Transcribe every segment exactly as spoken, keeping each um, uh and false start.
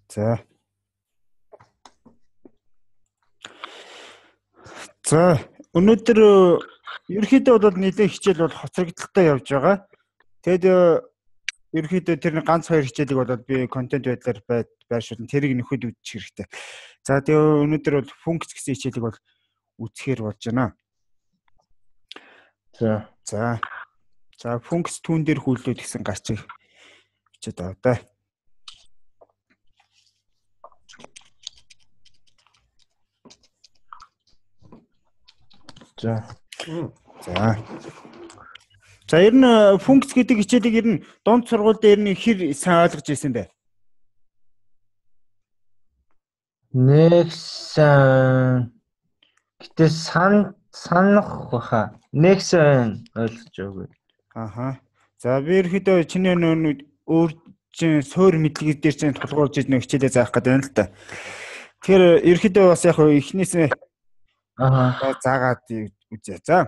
За. За, өнөөдөр ерөөхдөө бол нэлээд хичээл бол хоцрогдолтой явж байгаа. Тэгэд ерөөхдөө тэрний ганц хоёр хичээлийг бол би контент байдлаар байршуулна. Тэрийг нөхөд үзчих хэрэгтэй. За, тэгээ өнөөдөр бол функц гэсэн хичээлийг бол үзэхээр болж байна. За. За. За, функц түүн дээр хүлээд гэсэн гарчиг бичээд аваа да. За. За. За, ер нь функц гэдэг хичээлийг ер нь дунд сургууль дээр нь хэр сайн ойлгож ирсэн бэ? Нэг сан гэтээ сан санах баха. Нэг сан ойлгож байгаагүй. Аха. За, би ерөөхдөө чиний нөө өөр чин суур мэдлэг дээр чинь тулгуурлаж ирнэ хичээлээ заах гэдэг байна л да. Тэгэхээр ерөөхдөө бас яг эхнээсээ Аха. заагаад үзье. За.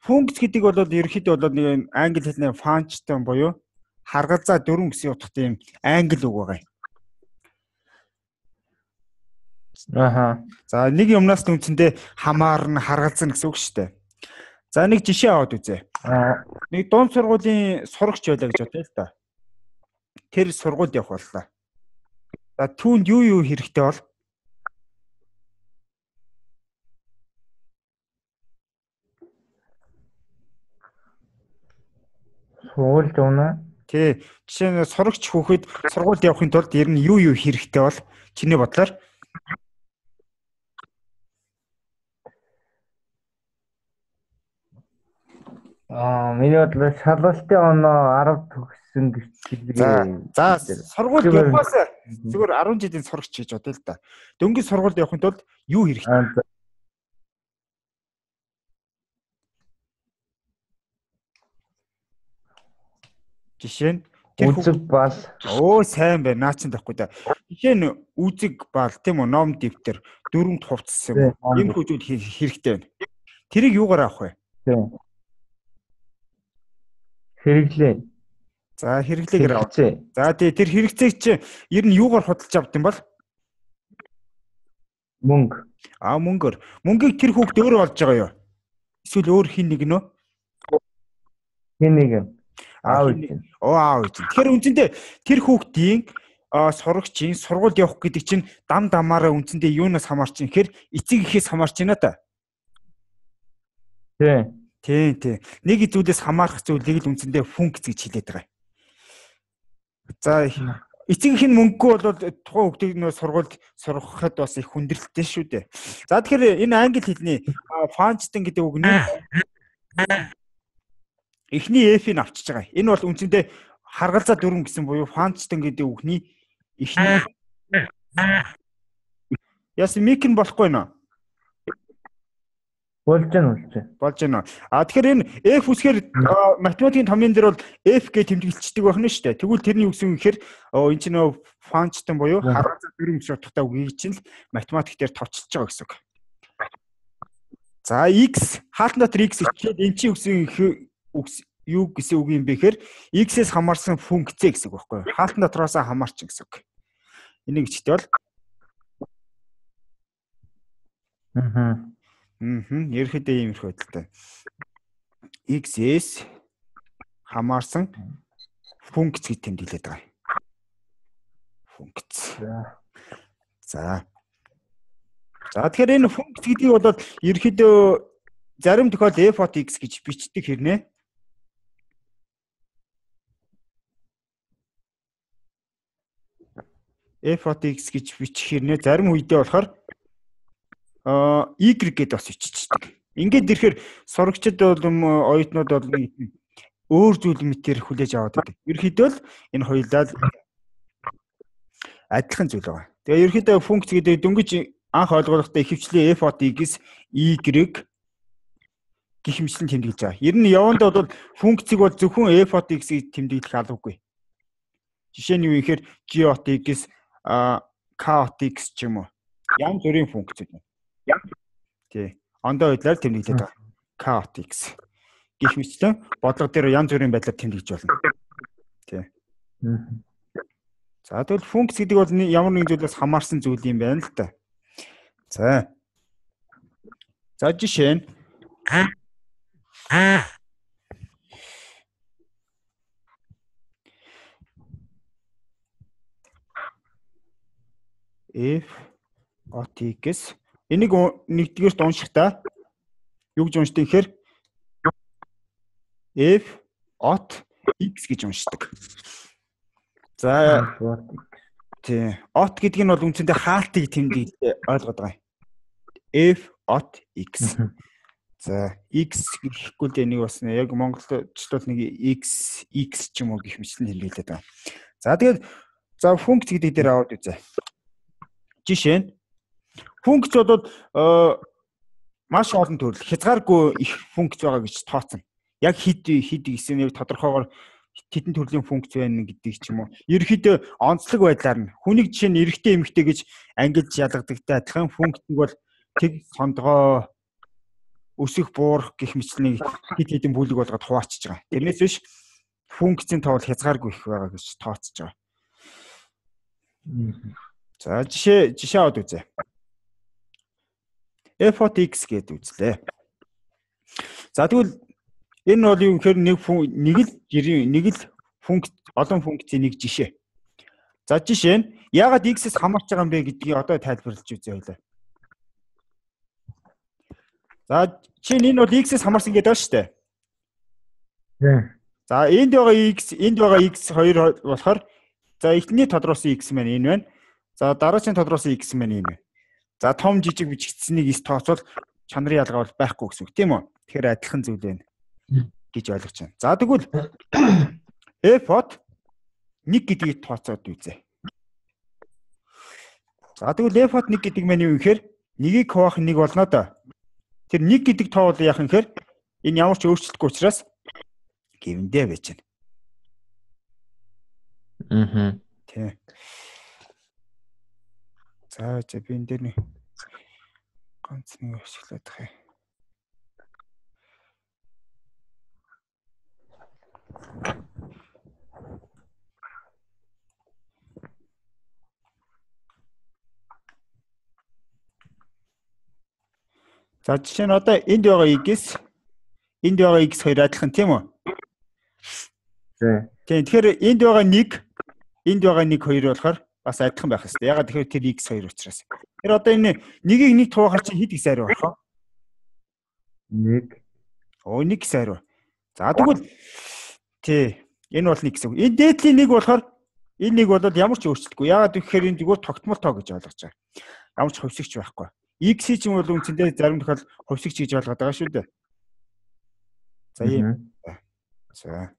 Функц гэдэг бол ерөөхдөө бол нэг англи хэлний function буюу харгалзаа дөрвөн гэсэн утгатай юм англи үг байгаа юм. Аха. За, нэг юмнаас үндсэндээ хамаарна, харгалзана гэсэн үг шүү дээ. За, нэг жишээ аваад үзье. Нэг дунд сургуулийн сурагч байлаа гэж бодъё л да. Тэр сургуульд явах боллоо. За, түүнд юу юу хэрэгтэй бол? Сургуульд явна. Тий. Жишээ нь сурагч хүүхэд сургуульд явахын тулд ер нь юу юу хэрэгтэй бол чиний бодлоор? Аа, миний бодлоор шалгалтын оноо арав төгссөн гэж. За, за сургуульд явахаас зүгээр арван жилийн сурагч гэж бодъё л да. Дөнгөж сургуульд явахын тулд юу хэрэгтэй? Жишээ нь үзэг бал. Оо, сайн байна. Наа чин тахгүй да. Жишээ нь үзэг бал тийм үү, ном дэвтэр, дөрөнд хувцас юм. Ийм хүчүүд хэрэгтэй байна. Тэрийг юугаар авах вэ? Тийм. Хэрэглээ. За, хэрэглээгээр авах. За, тий тэр хэрэгцээг чи ер нь юугаар худалдаж авд юм бол? Мөнгө. Аа, мөнгөөр. Мөнгийг тэр хүүхд өөрөө олж байгаа юу? Эсвэл өөр хин нэг нөө? Хин нэг юм. Аав чинь. Оо, аав чинь. Тэгэхээр үндсэндээ тэр хүүхдийн сурагчийн сургуульд явах гэдэг чинь дам дамаараа үндсэндээ юунаас хамаарч юм гэхээр эцэг эхээс хамаарч байна та. Тий. Тий, тий. Нэг зүйлээс хамаарах зүйлийг л үндсэндээ функц гэж хэлээд байгаа. За, эцэг их нь мөнгөгүй бол тухайн хүүхдийг нөө сургуульд сургахад бас их хүндрэлтэй шүү дээ. За, тэгэхээр энэ англи хэлний function гэдэг үг нь эхний F-ийг авчиж байгаа. Энэ бол үндсэндээ харгалзаа дөрвөн гэсэн буюу function гэдэг үгний эхний. Яс мик нь болохгүй нөө. Болж гэн болж. Болж гэнэ. А тэгэхээр энэ F үсгээр математикийн томьёон дээр бол F гэж тэмдэглэждэг байна шүү дээ. Тэгвэл тэрний үгс юм гэхээр энэ чинь нөө function буюу харгалзаа дөрвөн гэсэн утгатай үгийг чинь л математик дээр товчилж байгаа гэсэн үг. За, x хаалтан дотор x ичлээд энэ чинь үгс юу гэсэн үг юм бэ гэхээр x-ээс хамаарсан функц гэсэн үг байхгүй юу? Хаалтан дотроос хамаарч гэсэн үг. Энийг чигтэй бол. Аа. Мм, ерөөхдөө иймэрхүү байдалтай. X-ээс хамаарсан функц гэж тэмдэглээд байгаа. Функц. За. За, тэгэхээр энэ функц гэдгийг бол ерөөхдөө зарим тохиолдолд f of x гэж бичдэг хэрнээ. F of x гэж бичих хэрнээ зарим үедээ болохоор а y гэдээ бас биччихдэг. Ингээд ирэхээр сурагчид бол оюутнууд бол өөр зүйл мэтэр хүлээж аваад байдаг. Ерөнхийдөө л энэ хоёулаа адилхан зүйл байгаа. Тэгээ ерөнхийдөө функц гэдэг дөнгөж анх ойлгохтой ихэвчлэн f of x y гэх мэтчлэн тэмдэглэж байгаа. Ер нь явандаа бол функцийг бол зөвхөн f of x-ийг тэмдэглэх албагүй. Жишээ нь юу гэхээр g of x а k of x ч юм уу. Янз бүрийн функцүүд байна. Тий. Ондоо байдлаар тэмдэглээд байгаа. K of x гэх мэтчлэн бодлого дээр янз бүрийн байдлаар тэмдэглэж болно. Тий. За тэгвэл функц гэдэг бол ямар нэгэн зүйлээс хамаарсан зүйл юм байна л та. За. За жишээ нь f от x энийг нэгдүгээрт уншихдаа юу гэж уншдаг гэхээр f от x гэж уншдаг. За тий от гэдэг нь бол үндсэндээ хаалтыг тэмдэглэж ойлгоод байгаа. f от x. За x гэхгүй л энийг бас яг монголчлол нэг x x ч юм уу гэх мэтлэн хэлээд байгаа. За тэгээд за функц гэдэг дээр аваад үзье. Жишээ нь функц бол маш олон төрөл хязгааргүй их функц байгаа гэж тооцсон. Яг хэд хэд гэсэн нэг тодорхойгоор хэдэн төрлийн функц байна гэдэг ч юм уу. Ерөнхийдөө онцлог байдлаар нь хүнийг жишээ нь эрэгтэй эмэгтэй гэж ангилж ялгадагтай адилхан функц нь бол тэг сондгоо өсөх буурах гэх мэтлэн хэд хэдэн бүлэг болгоод хуваачиж байгаа. Тэрнээс биш функцийн тоо хязгааргүй их байгаа гэж тооцож байгаа. За жишээ жишээ аваад үзье. f от x гэдэг үзлээ. За тэгвэл энэ бол юу гэхээр нэг нэг л нэг л функц олон функцийн нэг жишээ. За жишээ нь яагаад x-с хамаарч байгаа юм бэ гэдгийг одоо тайлбарлаж үзье хоёлаа. За жишээ нь энэ бол x-с хамаарсан гэдэг байна шүү дээ. За энд байгаа x энд байгаа x хоёр болохоор за эхний тодруулсан x маань энэ байна. За дараагийн тодруулсан x маань энэ байна. За том жижиг бичигдсэнийг эс тооцвол чанарын ялгаа бол байхгүй гэсэн үг тийм үү? Тэгэхээр адилхан зүйл байна гэж ойлгож байна. За тэгвэл f от нэг гэдгийг тооцоод үзье. За тэгвэл f от нэг гэдэг маань юу гэхээр нэгийг хуваах нэг болно да. Тэр нэг гэдэг тоо бол яах юм гэхээр энэ ямар ч өөрчлөлтгүй учраас гэвэндээ байж байна. Аа. Тий. За за би энэ дээр нэг ганц нэг ашиглаад байгаа юм. За жишээ нь одоо энд байгаа x энд байгаа x хоёр адилхан тийм үү? Тийм. Тэгэхээр энд байгаа нэг энд байгаа нэг хоёр болохоор бас адилхан байх хэрэгтэй. Ягаад тэгэхээр тэр x хоёр учраас. Тэр одоо энэ нэгийг нэг туухаар чи хэд x хариу болох вэ? нэг. Оо нэг x хариу. За тэгвэл тий энэ бол нэг гэсэн үг. Энэ дээдлийн нэг болохоор энэ нэг бол ямар ч өөрчлөлтгүй. Ягаад гэхээр энэ зүгээр тогтмол тоо гэж ойлгож байгаа. Ямар ч хувьсгч байхгүй. X ч юм бол үндсэндээ зарим тохиол хувьсгч гэж ойлгоод байгаа шүү дээ. За ийм. За.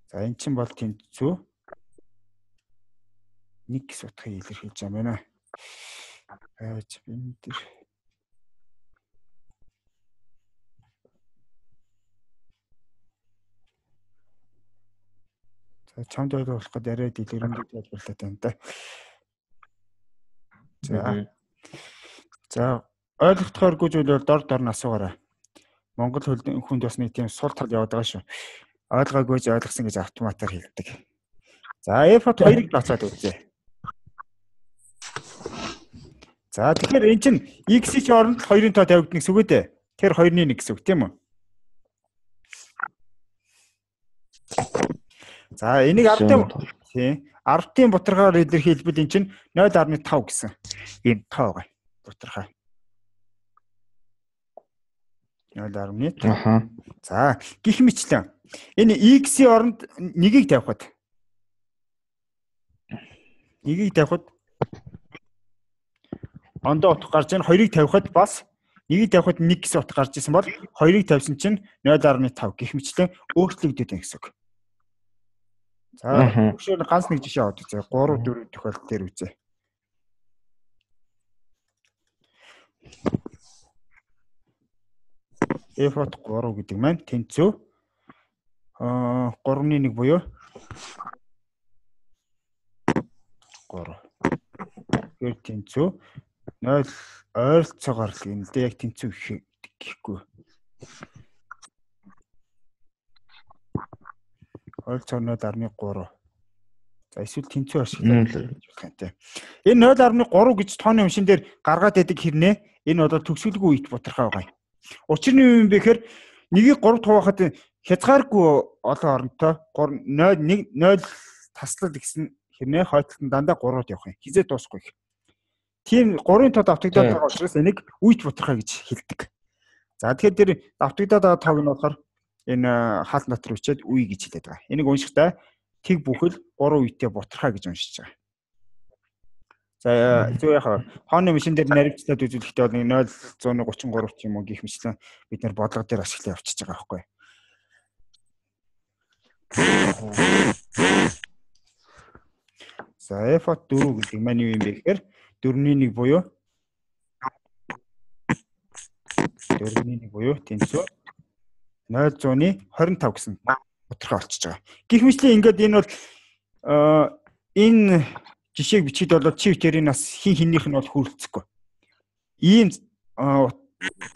За энэ чинь бол тэнцүү. Нэг гэс утгыг илэрхийлж байгаа юм байна. Аач энэ дэр. За чамд ойлгох гээд арай дэлгэрэнгүй тайлбарлаад байна да. За. За ойлгохдохооргүй зүйл бол дор дор нь асуугаарай. Монгол хүнд бас нэг тийм сул тал яваад байгаа шүү. Ойлгоогүй ч ойлгосон гэж автоматар хэлдэг. За f от хоёрыг тооцоод үзье. За тэгэхээр эн чинь x-ийн оронд хоёрын тоо тавигдана гэсэн үг үү дээ. Тэр хоёрын нэг гэсэн үг тийм үү? За энийг ардын тий ардын бутаргаар илэрхийлбэл эн чинь нуль фаصلة пять гэсэн ийм тоо байгаа. Бутархаа. нуль фаصلة пять. Аха. За гих мэтлэн энэ x-ийн оронд нэгийг тавихад нэгийг тавихад ондоо утга гарч ийн хоёрыг тавихад бас нэгийг тавихад нэг гэсэн утга гарч исэн бол хоёрыг тавьсан чинь нуль фаصلة пять гих мэтлэн өөрчлөгдөд байна гэсэн үг. За өгшөөр ганц нэг жишээ аваад үзье. гурав дөрөв тохиолдол дээр үзье. f от гурав гэдэг маань тэнцүү аа гуравны нэг буюу гурав. Тэр тэнцүү нуль ойролцоогоор л юм л дээ яг тэнцүү гэхгүй. ойролцоогоор нуль дасмал гурав. За эсвэл тэнцүү ашиглах болох юм те. Энэ нуль дасмал гурав гэж тооны уншин дээр гаргаад байдаг хэрнээ энэ бол төгсгөлгүй ит бутархай байгаа юм. Учир нь юу юм бэ гэхээр нэгийг гурав хуваахад хязгааргүй олон оронтой нуль нэг нуль таслал гэсэн хэрнээ хойтлолт дандаа гурвууд явах юм. Хизээ дуусахгүй. Тийм гурвын тод давтагдаад байгаа учраас энийг үйт бутархай гэж хэлдэг. За тэгэхээр тэр давтагдаад байгаа тоог нь болохоор энэ хаалт дотор үчээд үе гэж хэлээд байгаа. Энийг уншихтаа тэг бүхэл гурван үйтэй бутархай гэж уншиж байгаа. За зөв яхаа хооны машин дээр наривчлаад үзүүлэхдээ бол нуль гурван гурав ч юм уу гэх мэтлэн бид нэр бодлого дээр ашиглаж явчихж байгаа байхгүй. За эф дөрөв гэдэг маань юу юм бэ гэхээр дөрвний нэг буюу дөрвний нэг буюу тэнцүү нуль двадцать тав гэсэн бутархай болчихж байгаа. Гэх мэтлэн ингээд энэ бол энэ жишээг бичихэд бол чи тэрийн нас хин хиннийх нь бол хүрэлцэхгүй. Ийм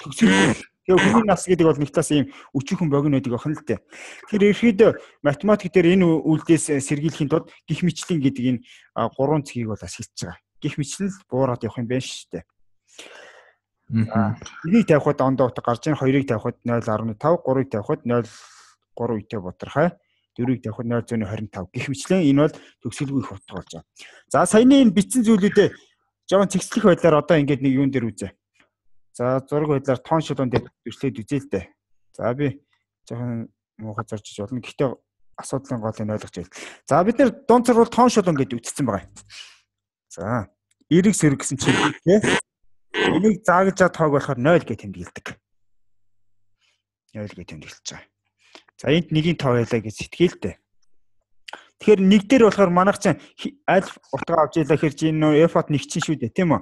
төгсгөл тэгээ хүний нас гэдэг бол нэг талаас ийм өчүүхэн богино байдаг охин л дээ. Тэгэхээр ерөөхдөө математик дээр энэ үйлдээс сэргийлэхийн тулд гих мэтлэн гэдэг энэ гурван цэгийг бол ашиглаж байгаа. Гих мэтлэн л буураад явах юм байна шүү дээ. Энийг тавихад ондоо утга гарч ийн хоёрыг тавихад нуль дасмал тав, гурвыг тавихад нуль гурав үйтэй бутархай, дөрвийг тавихад нуль двадцать пять гэх мэтлэн энэ бол төгсгөлгүй их утга болж байгаа. За саяны энэ бичсэн зүйлүүдээ жоохон цэгцлэх байдлаар одоо ингээд нэг юун дээр үзье. За зураг байдлаар тоон шулуун дээр дүрслээд үзье л дээ. За би жоохон муухай зарж болно. Гэхдээ асуудлын голыг ойлгож байл. За бид нэр дунд цар бол тоон шулуун гэдэг үтцсэн байгаа. За эрэг сэрэг гэсэн чинь тийм. Энийг заагж чад тоог болохоор нуль гэж тэмдэглэдэг. нуль гэж тэмдэглэж байгаа. За энд нэгийн тоо байлаа гэж сэтгэлтэй. Тэгэхээр нэг дээр болохоор манайх чинь аль утга авч ийлаа хэр чинь нөө f-от нэг чинь шүү дээ, тийм үү?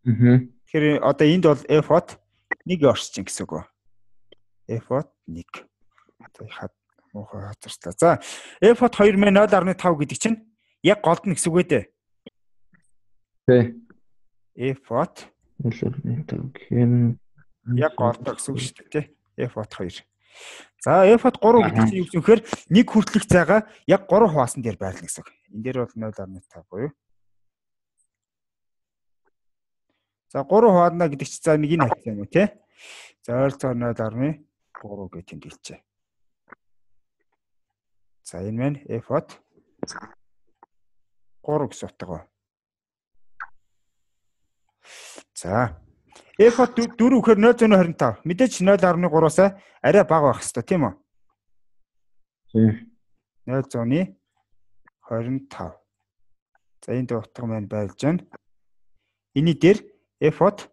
Аа. Тэгэхээр одоо энд бол f-от нэг орч чинь гэсэн үг. f-от нэг. Одоо хад муухай хазарчлаа. За f-от хоёр мэ нуль дасмал тав гэдэг чинь яг голд нь гэсэн үг ээ. Тэ. f-от нуль дасмал тав гэхин яг голд гэсэн үг шүү дээ, тий? f-от хоёр. За f-от гурав гэдэг чинь юу юм гэхээр нэг хүртэлх цайгаа яг гурав хуваасан дээр байрлна гэсэн үг. Энэ дээр бол нуль дасмал тав буюу. За гурав хуваадна гэдэг чинь за нэг энэ хавцаа юм уу тий? За ойролцоогоор нуль дасмал гурав гэж тэмдэглэжээ. За энэ маань f-от гурав гэсэн утга. За f-от дөрөв гэхээр нуль двадцать пять. Мэдээж нуль дасмал гураваас арай бага байх хэвээр тийм үү? Тийм. нуль двадцать пять. За энэ утга маань байлж байна. Эний дээр f-от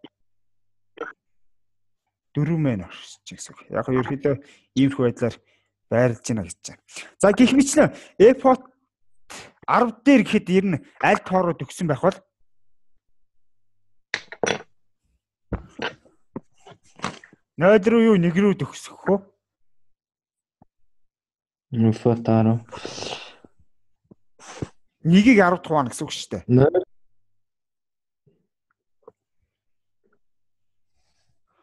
дөрөв мэн орчих гэсэн үг. Яг нь ерөөдөө иймэрхүү байдлаар байрлаж байна гэж байна. За гэх мэтлэн f-от арав дээр гэхэд ер нь аль тоороо төгсөн байх бол нуль руу юу нэг рүү төгсөх үү? f-от арав. Нэгийг арав тухайн гэсэн үг шүү дээ.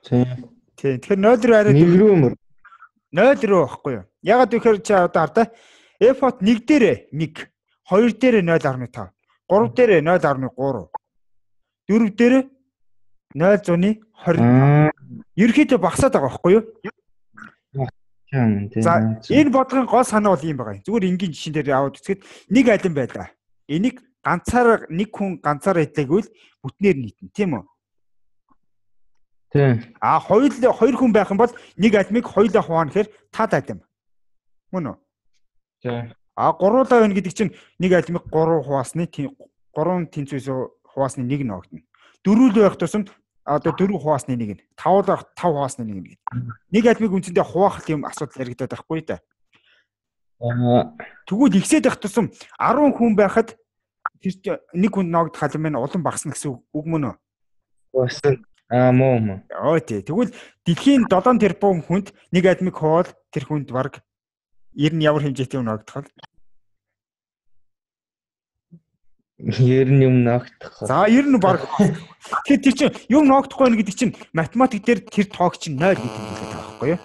Тийм. Тэгэхээр нуль руу арай нэг рүү мөр. нуль рүү байхгүй юу? Ягаад гэхээр чи одоо хардаа f-от нэг дээр нэг, хоёр дээр нуль дасмал тав, гурав дээр нуль дасмал гурав, дөрөв дээр нуль двадцать. Ерөнхийдөө багасаад байгаа байхгүй юу? За энэ бодлогын гол санаа бол юм байгаа. Зүгээр энгийн жишээн дээр аваад үзэхэд нэг алин байлаа. Энийг ганцаар нэг хүн ганцаар хийлгэвэл бүтнээр нийтнэ, тийм үү? Тийм. А хоёр хоёр хүн байх юм бол нэг алимыг хоёулаа хуваана гэхээр тад алим. Мөн үү? Тийм. А гуруулаа байна гэдэг чинь нэг алимыг гурав хуваасны гурван тэнцвээс хуваасны нэг ногдно. Дөрвөл байх тусамд одоо дөрөв хуваасны нэг нь, тавл байх тав хуваасны нэг нь. Нэг алимыг үндсэндээ хуваах юм асуудал яригадаад байхгүй да. Тэгвэл ихсээд байх тусам арав хүн байхад тэр нэг хүн ногдох алим маань улам багасна гэсэн үг мөн үү? Багасна. Аа муу муу. Оо тий. Тэгвэл дэлхийн долоон тэрбум хүнд нэг алимыг хуваал тэр хүнд баг ер нь ямар хэмжээтэй юм ногдох вэ? Ер нь юм ногдох. За ер нь баг. Тэгэхээр тэр чинь юм ногдохгүй байх гэдэг чинь математик дээр тэр тоог чинь нуль гэдэг юм хэлээд байгаа байхгүй юу?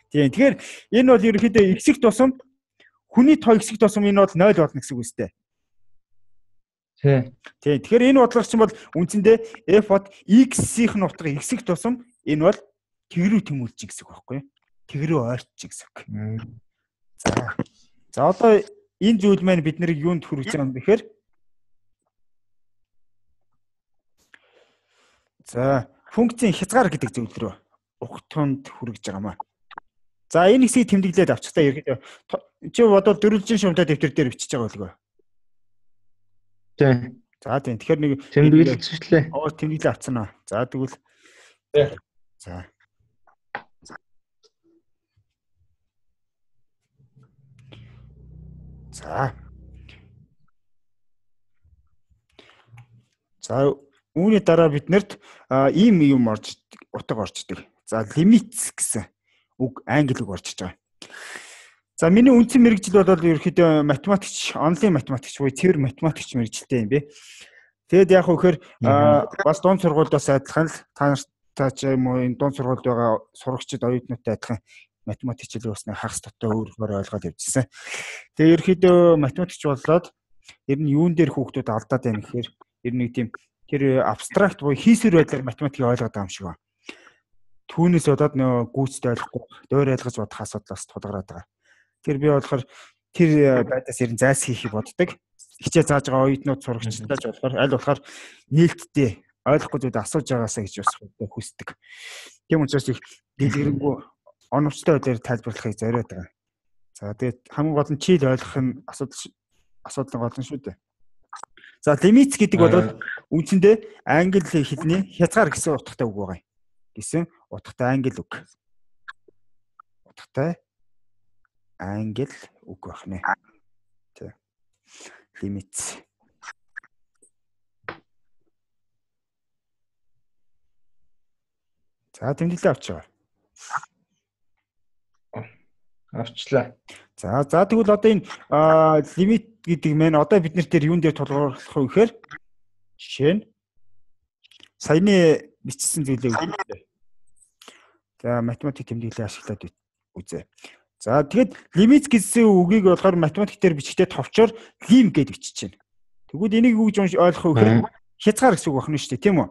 Тийм. Тэгэхээр энэ бол ерөнхийдөө x-ийг тусам хүний тоо x-ийг тусам энэ бол нуль болно гэсэн үг үстэй. Тийм. Тийм. Тэгэхээр энэ бодлого чинь бол үндсэндээ f бод x-ийн нутга x-ийг тусам энэ бол тэгрүү тэмүүлж гэсэн үг байхгүй юу? Тэгрүү ойрч гэсэн үг. За. За одоо энэ зүйл маань бид нарыг юунд хүргэж байгаа юм бэ гэхээр за функцийн хязгаар гэдэг зүйл рүү угтунд хүргэж байгаа маа. За энэ хэсгийг тэмдэглээд авчих та ерөөдөө чи бодвол дөрвөлжин шумтай дэвтэр дээр бичиж байгаа болов уу? Тийм. За тийм. Тэгэхээр нэг тэмдэглэлчлээ. оо тэмдэглээ авцсан аа. За тэгвэл за За. За үүний дараа биднэрт ийм юм орж утга орчдөг. За limits гэсэн үг англи үг орчиж байгаа. За миний үндсэн мэргэжил бол ерөөхдөө математикч, онлайн математикч буюу цэвэр математикч мэргэжилтэй юм бэ. Тэгэд яг хөөхөр бас дунд сургуульдаас адилхан л та нартай ч юм уу энэ дунд сургуульд байгаа сурагчид оюутнуудтай адилхан математикч хэл уусны хагас дотоо өөрөөр ойлгоод явжсэн. Тэгээ ерөөхдөө математикч болоод ер нь юун дээр хүүхдүүд алдаад байна гэхээр ер нь нэг тийм тэр абстракт буюу хийсвэр байдлаар математикийг ойлгоод байгаа юм шиг байна. Түүнээс болоод нөө гүйцэд ойлгохгүй, дөөр ойлгож бодох асуудлаас тулгараад байгаа. Тэр би болохоор тэр байдаас ер нь зайлс хийхийг боддог. Хичээл зааж байгаа оюутнууд сурагчдаа ч болохоор аль болохоор нээлттэй ойлгохгүй зүйлд асууж байгаасаа гэж бас хүсдэг. Тийм учраас их дэлгэрэнгүй оновчтой байдлаар тайлбарлахыг зориод байгаа. За тэгээд хамгийн гол нь чийл ойлгох нь асуудал асуудал гол нь шүү дээ. За limits гэдэг бол үндсэндээ англи хэлний хязгаар гэсэн утгатай үг байгаа юм. Гэсэн утгатай англи үг. Утгатай англи үг байна. Тэ. Limits. За тэмдэглээ авч байгаа. Авчлаа. За за тэгвэл одоо энэ лимит гэдэг мэн одоо бид нарт юун дээр тулгуурлах вэ гэхээр жишээ нь саяны бичсэн зүйлээ үзье. За математик тэмдэглэлээ ашиглаад үзье. За тэгэд лимит гэсэн үгийг болохоор математик дээр бичгтээ товчоор лим гэж бичиж байна. Тэгвэл энийг юу гэж ойлгох вэ гэхээр хязгаар гэсэн үг байна шүү дээ, тийм үү?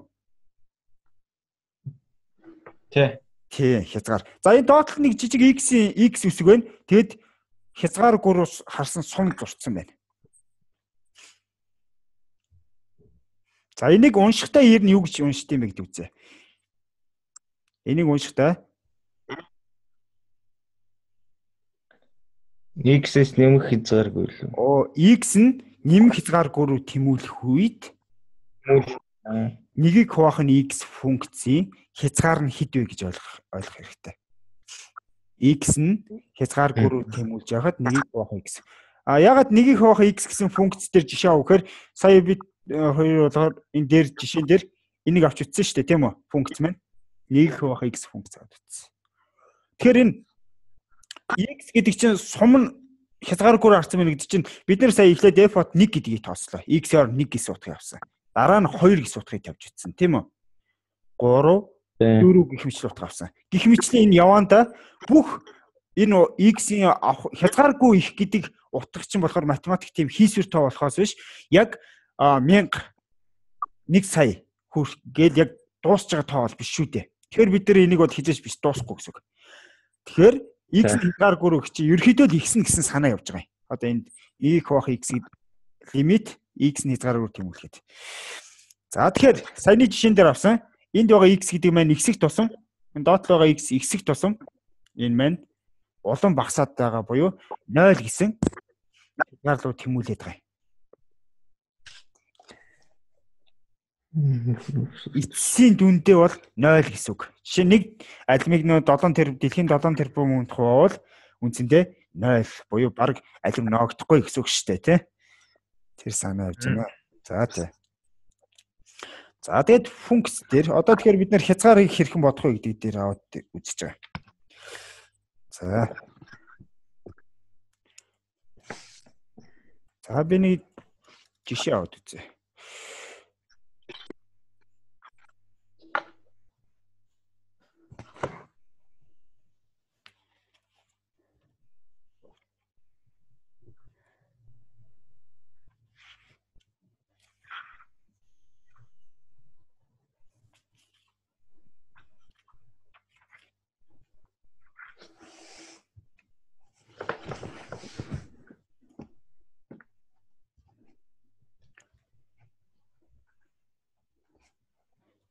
Тий. Тий, хязгаар. За энэ доотлох нэг жижиг x-ийн x үсэг байна. Тэгэд хязгааргүйрус харсан сум зурцсан байна. За энийг уншихтаа ер нь юу гэж уншд юм бэ гэдэг үзье. Энийг уншихтаа x-с нэмэх хязгааргүй л. Оо x нь нэмэх хязгааргүй руу тэмүүлэх үед нэгийг хуваах нь x функцийн хязгаар нь хэд вэ гэж ойлгох ойлгох хэрэгтэй. X нь хязгааргүй руу тэмүүлж яхад нэгийг хуваах x. А ягаад нэгийг хуваах x гэсэн функц дээр жишээ аваххээр сая бид хоёр болохоор энэ дээр жишээн дээр энийг авч утсан шүү дээ, тийм үү? Функц маань нэгийг хуваах x функц авч утсан. Тэгэхээр энэ x гэдэг чинь сум нь хязгааргүй харсан байна гэдэг чинь бид нэр сая эхлээд f бод нэг гэдгийг тооцлоо. x-оор нэг гэсэн утгыг авсан. Дараа нь хоёр гэсэн утгыг тавьж утсан, тийм үү? гурав дөрөв гэх мэтлэн утга авсан. Гэх мэтлэн энэ яваанда бүх энэ x-ийн хязгааргүй их гэдэг утга чинь болохоор математик тийм хийсвэр тоо болохоос биш яг мянга нэг сая хүрх гээд яг дуусч байгаа тоо бол биш шүү дээ. Тэгэхээр бид нар энийг бол хизээч биш дуусахгүй гэсэн үг. Тэгэхээр x хязгааргүй рүү чи ерөөхдөө л x гэсэн санаа явж байгаа юм. Одоо энд e хуваах x-ийн лимит x нь хязгааргүй тэмүүлэхэд. За тэгэхээр саяны жишээн дээр авсан энд байгаа x гэдэг маань x-ийг тусам энэ доотлол байгаа x x-ийг тусам энэ маань улам багасаад байгаа буюу нуль гэсэн хязгаар руу тэмүүлээд байгаа юм. Эцсийн дүндээ бол нуль гэсэн үг. Жишээ нэг алимыг нөө долоон тэрбум дэлхийн долоон тэрбумд хуваавал үндсэндээ нуль буюу баг алим ноогдохгүй гэсэн үг шүү дээ, тий? Тэр санаа явж байна. За тий. За тэгээд функц дээр одоо тэгэхээр бид нэр хязгаарыг хэрхэн бодох вэ гэдэг дээр аваад үзэж байгаа. За. За би нэг жишээ аваад үзье.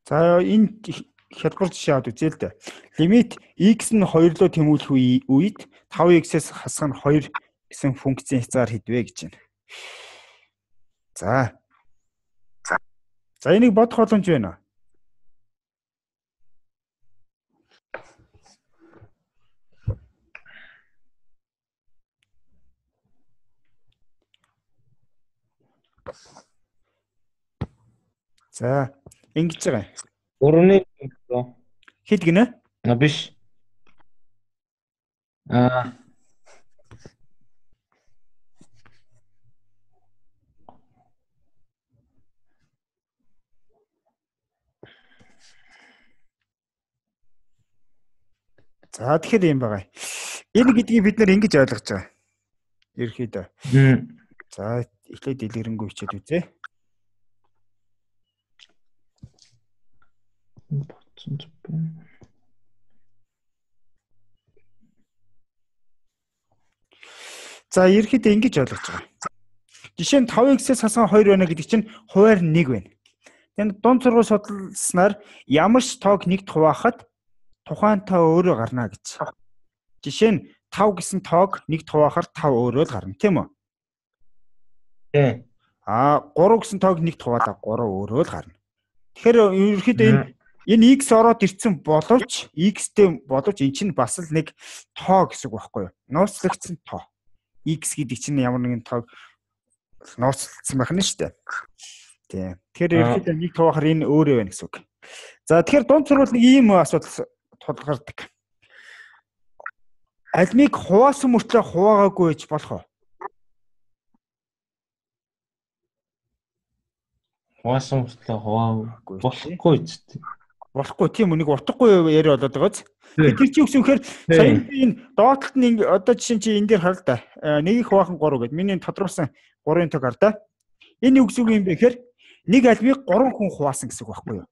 За энэ хялбар жишээ аваад үзье л дээ. Лимит x нь хоёр руу тэмүүлэх үед five x-ээс хасах нь two гэсэн функцийн хязгаар хэдвэ гэж байна. За. За энийг бодох боломж байна уу? За ингэж байгаа. Гурвны Хэд гинэ? А биш. Аа. За тэгэхээр юм байгаа. Энэ гэдгийг бид нэр ингэж ойлгож байгаа. Ерхийдөө. За эхлээд дэлгэрэнгүй хичээд үзье. За ерхийдөө ингэж ойлгож байгаа. Жишээ нь five x-ээс хассан two байна гэдэг чинь хуваар one байна. Тэгээд дунд сургууль судалснаар ямар ч тоог нэгт хуваахад тухайн тоо өөрөө гарна гэж. Жишээ нь five гэсэн тоог нэгт хуваахаар five өөрөө л гарна, тийм үү? Тий. Аа three гэсэн тоог нэгт хуваалаа three өөрөө л гарна. Тэгэхээр ерөнхийдөө энэ энэ x ороод ирсэн боловч x-тэй боловч эн чинь бас л нэг тоо гэсэн үг байхгүй юу? Нууцлагдсан тоо. X гэдэг чинь ямар нэгэн тоог нууцлагдсан байх нь шүү дээ. Тийм. Тэгэхээр ерөнхийдөө нэг тоохоор энэ өөрөө байна гэсэн үг. За тэгэхээр дунд сурвал нэг ийм асуудал тулгардаг. Альмиг хуваасан мөртлөө хуваагаагүй гэж болох уу? Хуваасан мөртлөө хуваагүй болохгүй ч. Болохгүй тийм үү, нэг утгагүй яриа болоод байгааз. Тэр чинь үгс үнэхээр сая энэ доотлолт нь одоо жишээ чи энэ дээр хар л да. Нэг их хувахан three гэдэг. Миний тодорхойлсон three-ын тог хар да. Энэ үгс үг юм бэ гэхээр нэг альмиг three хүн хуваасан гэсэн үг байхгүй юу?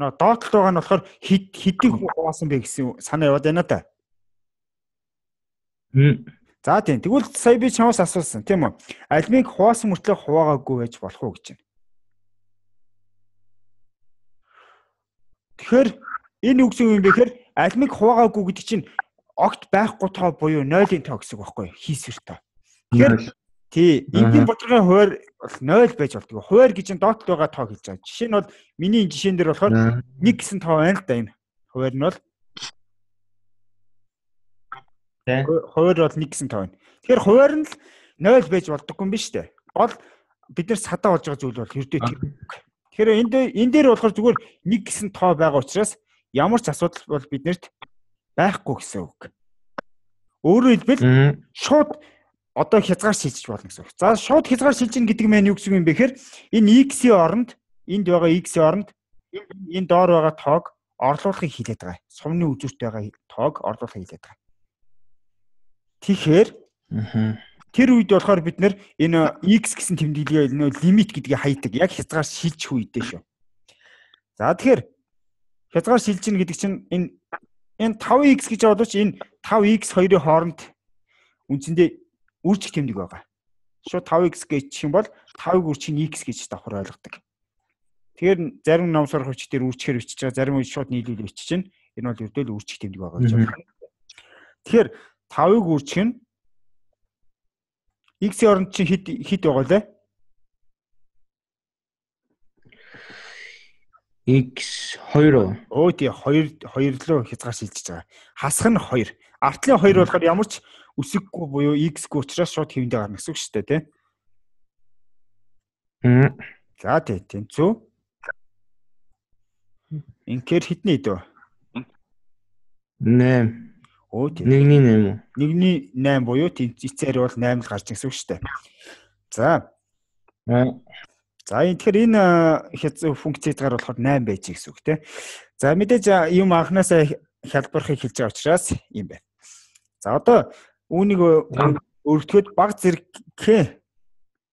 Нөө доотлолт байгаа нь болохоор хэд хэдийг хүн хуваасан бэ гэсэн санаа яваад байна та. За тийм. Тэгвэл сая би чамаас асуусан тийм үү? Альмиг хуваасан мөртлөө хуваагаагүй байж болох уу гэж байна. Тэгэхээр энэ үгс юм бэ гэхээр альмиг хуваагаагүй гэдэг чинь огт байхгүй тоо буюу нойлын тоо гэсэн үг байхгүй юу? Хийсвэр тоо. Тэгэхээр тий, энгийн бодлогын хуваар бол нойл байж болдог. Хуваар гэж нь доотлол байгаа тоо хэлж байгаа. Жишээ нь бол миний энэ жишээн дээр болохоор one гэсэн тоо байна л да энэ. Хуваар нь бол хуваар бол one гэсэн тоо байна. Тэгэхээр хуваар нь л нойл байж болдоггүй юм биш үү? Гол бид нар садаа болж байгаа зүйл бол ердөө тэр. Тэгэхээр энд энэ дээр болохоор зүгээр one гэсэн тоо байгаа учраас ямар ч асуудал бол биднэрт байхгүй гэсэн үг. Өөрөөр хэлбэл шууд одоо хязгаар шилжиж болно гэсэн үг. За шууд хязгаар шилжин гэдэг нь юу гэсэн юм бэ гэхээр энэ x-ийн оронд энд байгаа x-ийн оронд энэ доор байгаа тоог орлуулахыг хилээд байгаа. Сумны үзүүрт байгаа тоог орлуулахыг хилээд байгаа. Тэгэхээр тэр үед болохоор бид нэр энэ x гэсэн тэмдэглэгээ лимит гэдгийг хайдаг. Яг хязгаар шилжих үедээ шүү. За тэгэхээр хязгаар шилжин гэдэг чинь энэ энэ five x гэж бодож энэ five x two-ын хооронд үндсэндээ үржих тэмдэг байгаа. Шууд five x гэж юм бол five үржих x гэж давхар ойлгодог. Тэгэхээр зарим ном сурах хүчээр үржихээр бичиж байгаа, зарим үед шууд нийлүүл бичиж чинь энэ бол ердөө л үржих тэмдэг байгаа гэж байна. Тэгэхээр five-ыг үржих нь x-ийн оронд чинь хэд хэд байгаа лээ? X two. Өө тий two two руу хязгаар шилжиж байгаа. Хасах нь two. Артлын two болохоор ямар ч үсэггүй буюу x-гүй учраас шууд хэвэндээ гарна гэсэн үг шүү дээ, тий. Хм. За тий, тэнцүү. Инхээр хитний дөө? nine. Өө тий. Нэгний nine уу? Нэгний nine буюу эцээр бол nine л гарч гэсэн үг шүү дээ. За. За энэ тэгэхээр энэ функцээр болохоор nine байж гэсэн үг тий. За мэдээж юм анханасаа хялбархыг хэлж байгаа учраас юм байна. За одоо үүнийг өргөдөхөд баг зэрэг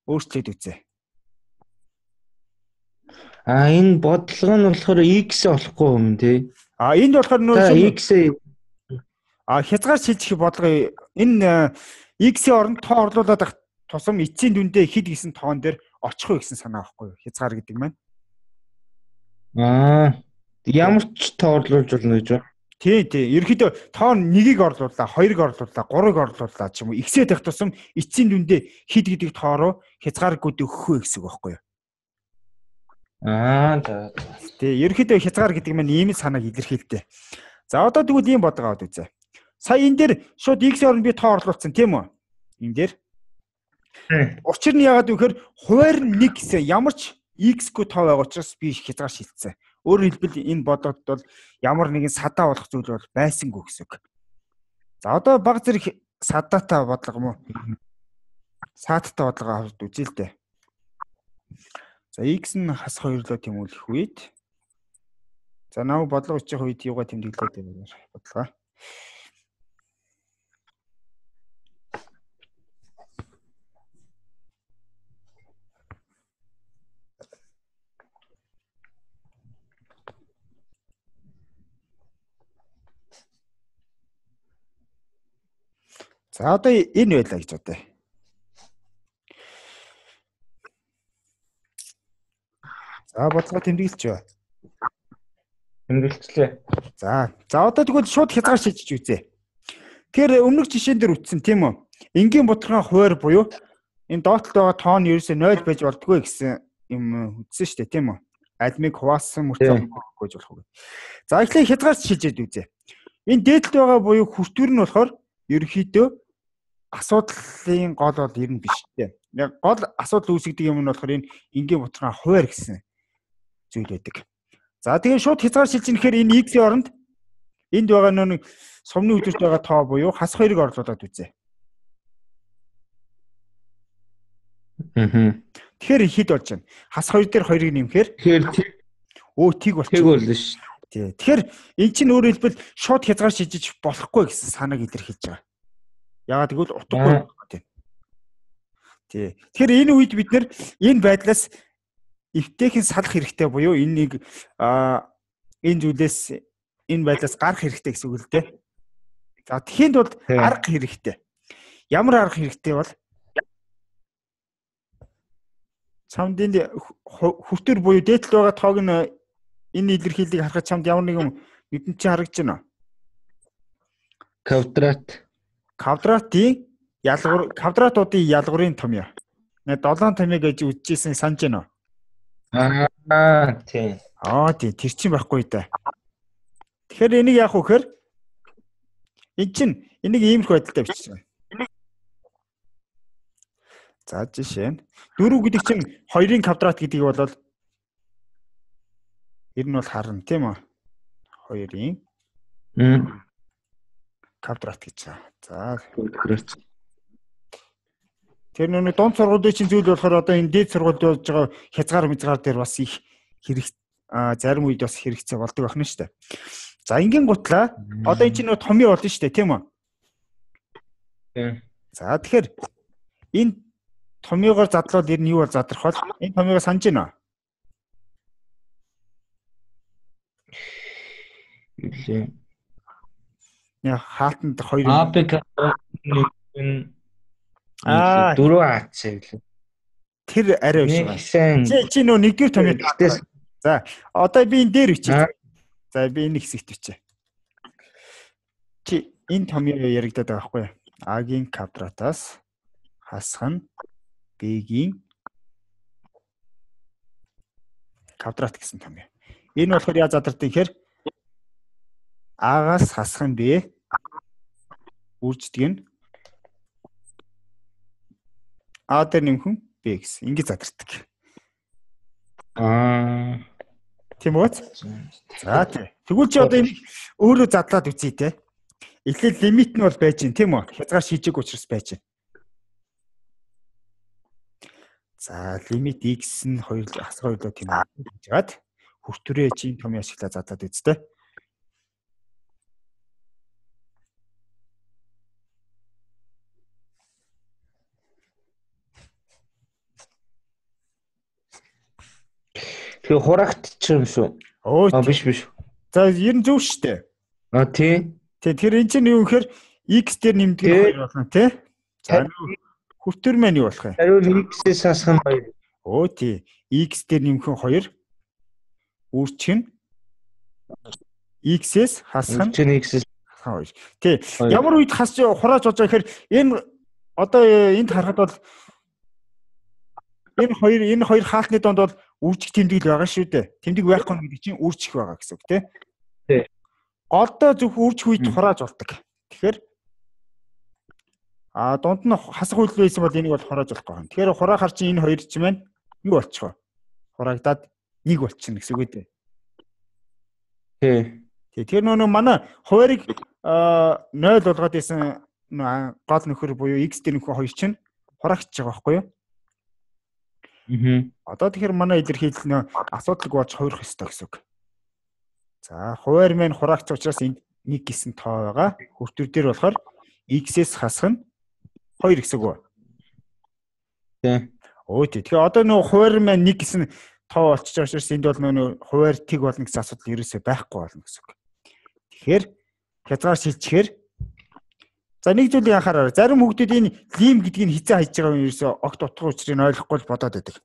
өөрчлөлт үзье. А энэ бодлого нь болохоор x болохгүй юм тий. А энд болохоор нөө x а хязгаар шилжих бодлого энэ x-ийн оронд тоо орлуулад ах тусам эцсийн дүндээ хэд гэсэн тоон дээр очих вэ гэсэн санаа байхгүй юу? Хязгаар гэдэг маань. Аа. Ямар ч тоорлуулж болно гэж байна. Тий, тий. Ерөнхийдөө тоо нэгийг орлууллаа, хоёрыг орлууллаа, гурыг орлууллаа ч юм уу. X-ээ тавих тусам эцсийн дүндээ хэд гэдэг тоороо хязгааргүйд өгөх вэ гэсэн үг байхгүй юу? Аа за. Тий, ерөнхийдөө хязгаар гэдэг нь ийм санааг илэрхийлдэг. За одоо тэгвэл ийм бодлого аваад үзье. Сая энэ дээр шууд X-ийн оронд би тоо орлуулсан тийм үү? Энэ дээр. Учир нь яагаад вэ гэхээр хуваар нь нэг гэсэн ямар ч X-гүй тоо байгаа учраас би хязгаар шилжсэн. Өөрөөр хэлбэл энэ бодлогод бол ямар нэгэн садаа болох зүйл бол байсангүй гэсэн үг. За одоо баг зэрэг садаатай бодлого юм уу? Саадтай бодлого аваад үзье л дээ. За X нь хас хоёрлоо тэмүүлэх үед за нав бодлого өчөх үед юугаа тэмдэглээд байна бодлого. За одоо энэ байлаа гэж бодъё. За бодлого тэмдэглэж байна. Тэмдэглэлээ. За. За одоо тэгвэл шууд хязгаар шийдэж үзье. Тэгэхээр өмнөх жишээн дээр үтсэн тийм үү? Энгийн бутархан хуваар буюу энэ доотлолд байгаа тоон ерөөсөө нуль байж болдгоо гэсэн юм үтсэн шүү дээ тийм үү? Альмиг хуваасан мөрцөө гэж болох үг. За эхлээд хязгаар шийдэж үзье. Энэ дээдлэлд байгаа буюу хүртвэр нь болохоор ерөнхийдөө асуудлын гол бол ер нь биш тийм. Яг гол асуудал үүсгдэг юм нь болохоор энэ энгийн бутархан хуваар гэсэн зүйл байдаг. За тэгээ шууд хязгаар шилжих гэхээр энэ X-ийн оронд энд байгаа нэг сумны өдөрт байгаа тоо буюу хас хоёрыг орлуулад үзье. Аа. Тэгэхээр хэд болж байна? Хас хоёр дээр хоёрыг нэмэхээр Тэгэхээр өө тиг болчих. тэг болно шүү. Тий. Тэгэхээр эн чинь өөрөөр хэлбэл шууд хязгаар шилжиж болохгүй гэсэн санааг илэрхийлж байгаа. Яагаад гэвэл утгагүй тийм. Тий. Тэгэхээр энэ үед бид нэр энэ байдлаас эвтэйхэн салах хэрэгтэй буюу энэ нэг а энэ зүйлээс энэ байдлаас гарах хэрэгтэй гэсэн үг л дээ. За тэгэхэд бол арга хэрэгтэй. Ямар арга хэрэгтэй бол чамд энэ хүртэр буюу дээдлэл байгаа тоог нь энэ илэрхийллийг харахад чамд ямар нэгэн нүдэнд чи харагдаж байна уу? Квадрат. Квадратын ялгуур квадратуудын ялгуурын томьёо. Нэ долоон томьёо гэж үзчихсэн санаж байна уу? Аа тийм. Аа тийм тэр чинь байхгүй да. Тэгэхээр энийг яах вэ гэхээр эн чинь энийг иймэрхүү байдалтай бичсэн. За жишээ нь дөрөв гэдэг чинь хоёрын квадрат гэдгийг бол ер нь бол харна тийм үү? Хоёрын квадрат гэж байна. За квадрат. Тэр нүг дунд сургуулийн чинь зүйл болохоор одоо энэ дээд сургуульд болж байгаа хязгаар мязгаар дээр бас их хэрэг зарим үед бас хэрэгцээ болдог байна шүү дээ. За ингийн гутлаа одоо энэ чинь нөө томьёо болно шүү дээ тийм үү? Тийм. За тэгэхээр энэ томьёогоор задлал ер нь юу бол задрах бол энэ томьёогоо санаж байна уу? Үлээ. Яа хаалтанд хоёр АПК нэг аа дөрөв аац гэлээ. Тэр арай биш байна. Чи чи нөө нэгдүгээр томьёо. За одоо би энэ дээр бичиж. За би энэ хэсэгт бичээ. Чи энэ томьёо яригадаад байгаа байхгүй юу? А-гийн квадратаас хасах нь Б-гийн квадрат гэсэн томьёо. Энэ болохоор яаж задардаг гэхээр А-гаас хасах нь Б үрждэг нь А дээр нэмхэн Б гэсэн. Ингэ задардаг. Аа. Тийм үү? За тий. Тэгвэл чи одоо энэ өөрөө задлаад үзье те. Эхлээд лимит нь бол байж гин тийм үү? Хязгаар шийжээг учраас байж гин. За лимит x нь хоёр хас хоёрлоо тийм үү гэж хаад хүртвэрээ чи том яшигла задлаад үзтээ. Тэгээ хурагт ч юм шүү. Аа биш биш. За ер нь зөв шүү дээ. Аа тий. Тэг тэр эн чинь юу гэхээр x дээр нэмдэг нь хоёр болно тий. За хүртвэр маань юу болох вэ? Хариу x-ээс хасах нь хоёр. Оо тий. X дээр нэмэх нь хоёр. Үрчин x-с хасах нь Үрчин x-с хоёр. Тий. Ямар үед хасч хурааж болж байгаа гэхээр энэ одоо энд харахад бол энэ хоёр энэ хоёр хаалтны донд бол үржих тэмдэг л байгаа шүү дээ. Тэмдэг байхгүй нь гэдэг чинь үржих байгаа гэсэн үг тий. Тий. Голдоо зөв үржих үед хурааж болдог. Тэгэхээр а дунд нь хасах үйлдэл байсан бол энийг бол хурааж болохгүй байна. Тэгэхээр хураахаар чинь энэ хоёр ч юм байна. Юу болчихоо? Хураагдаад нэг болчихно гэсэн үг үү? Тий. Тий. Тэгэхээр нөө манай хуваарийг нойл болгоод исэн гол нөхөр буюу x дээр нөхөр хоёр чинь хураагч байгаа байхгүй юу? Аа. Одоо тэгэхээр манай илэрхийлэл нөө асуудалг болж хувирах ёстой гэсэн үг. За хуваар маань хураагч учраас энд нэг гэсэн тоо байгаа. Хүртвэр дээр болохоор x-с хасах нь хоёр гэсэн үг. Тий. Өө тий. Тэгэхээр одоо нөө хуваар маань нэг гэсэн тоо болчихж байгаа учраас энд бол нөө хуваар тэг болно гэсэн асуудал ерөөсөй байхгүй болно гэсэн үг. Тэгэхээр хязгаар шилжчихээр за нэг зүйлийг анхаараа. Зарим хүмүүс энэ лим гэдгийг хизээ хайж байгаа юм ерөөсөй огт утга учрыг ойлгохгүй л бодоод байдаг.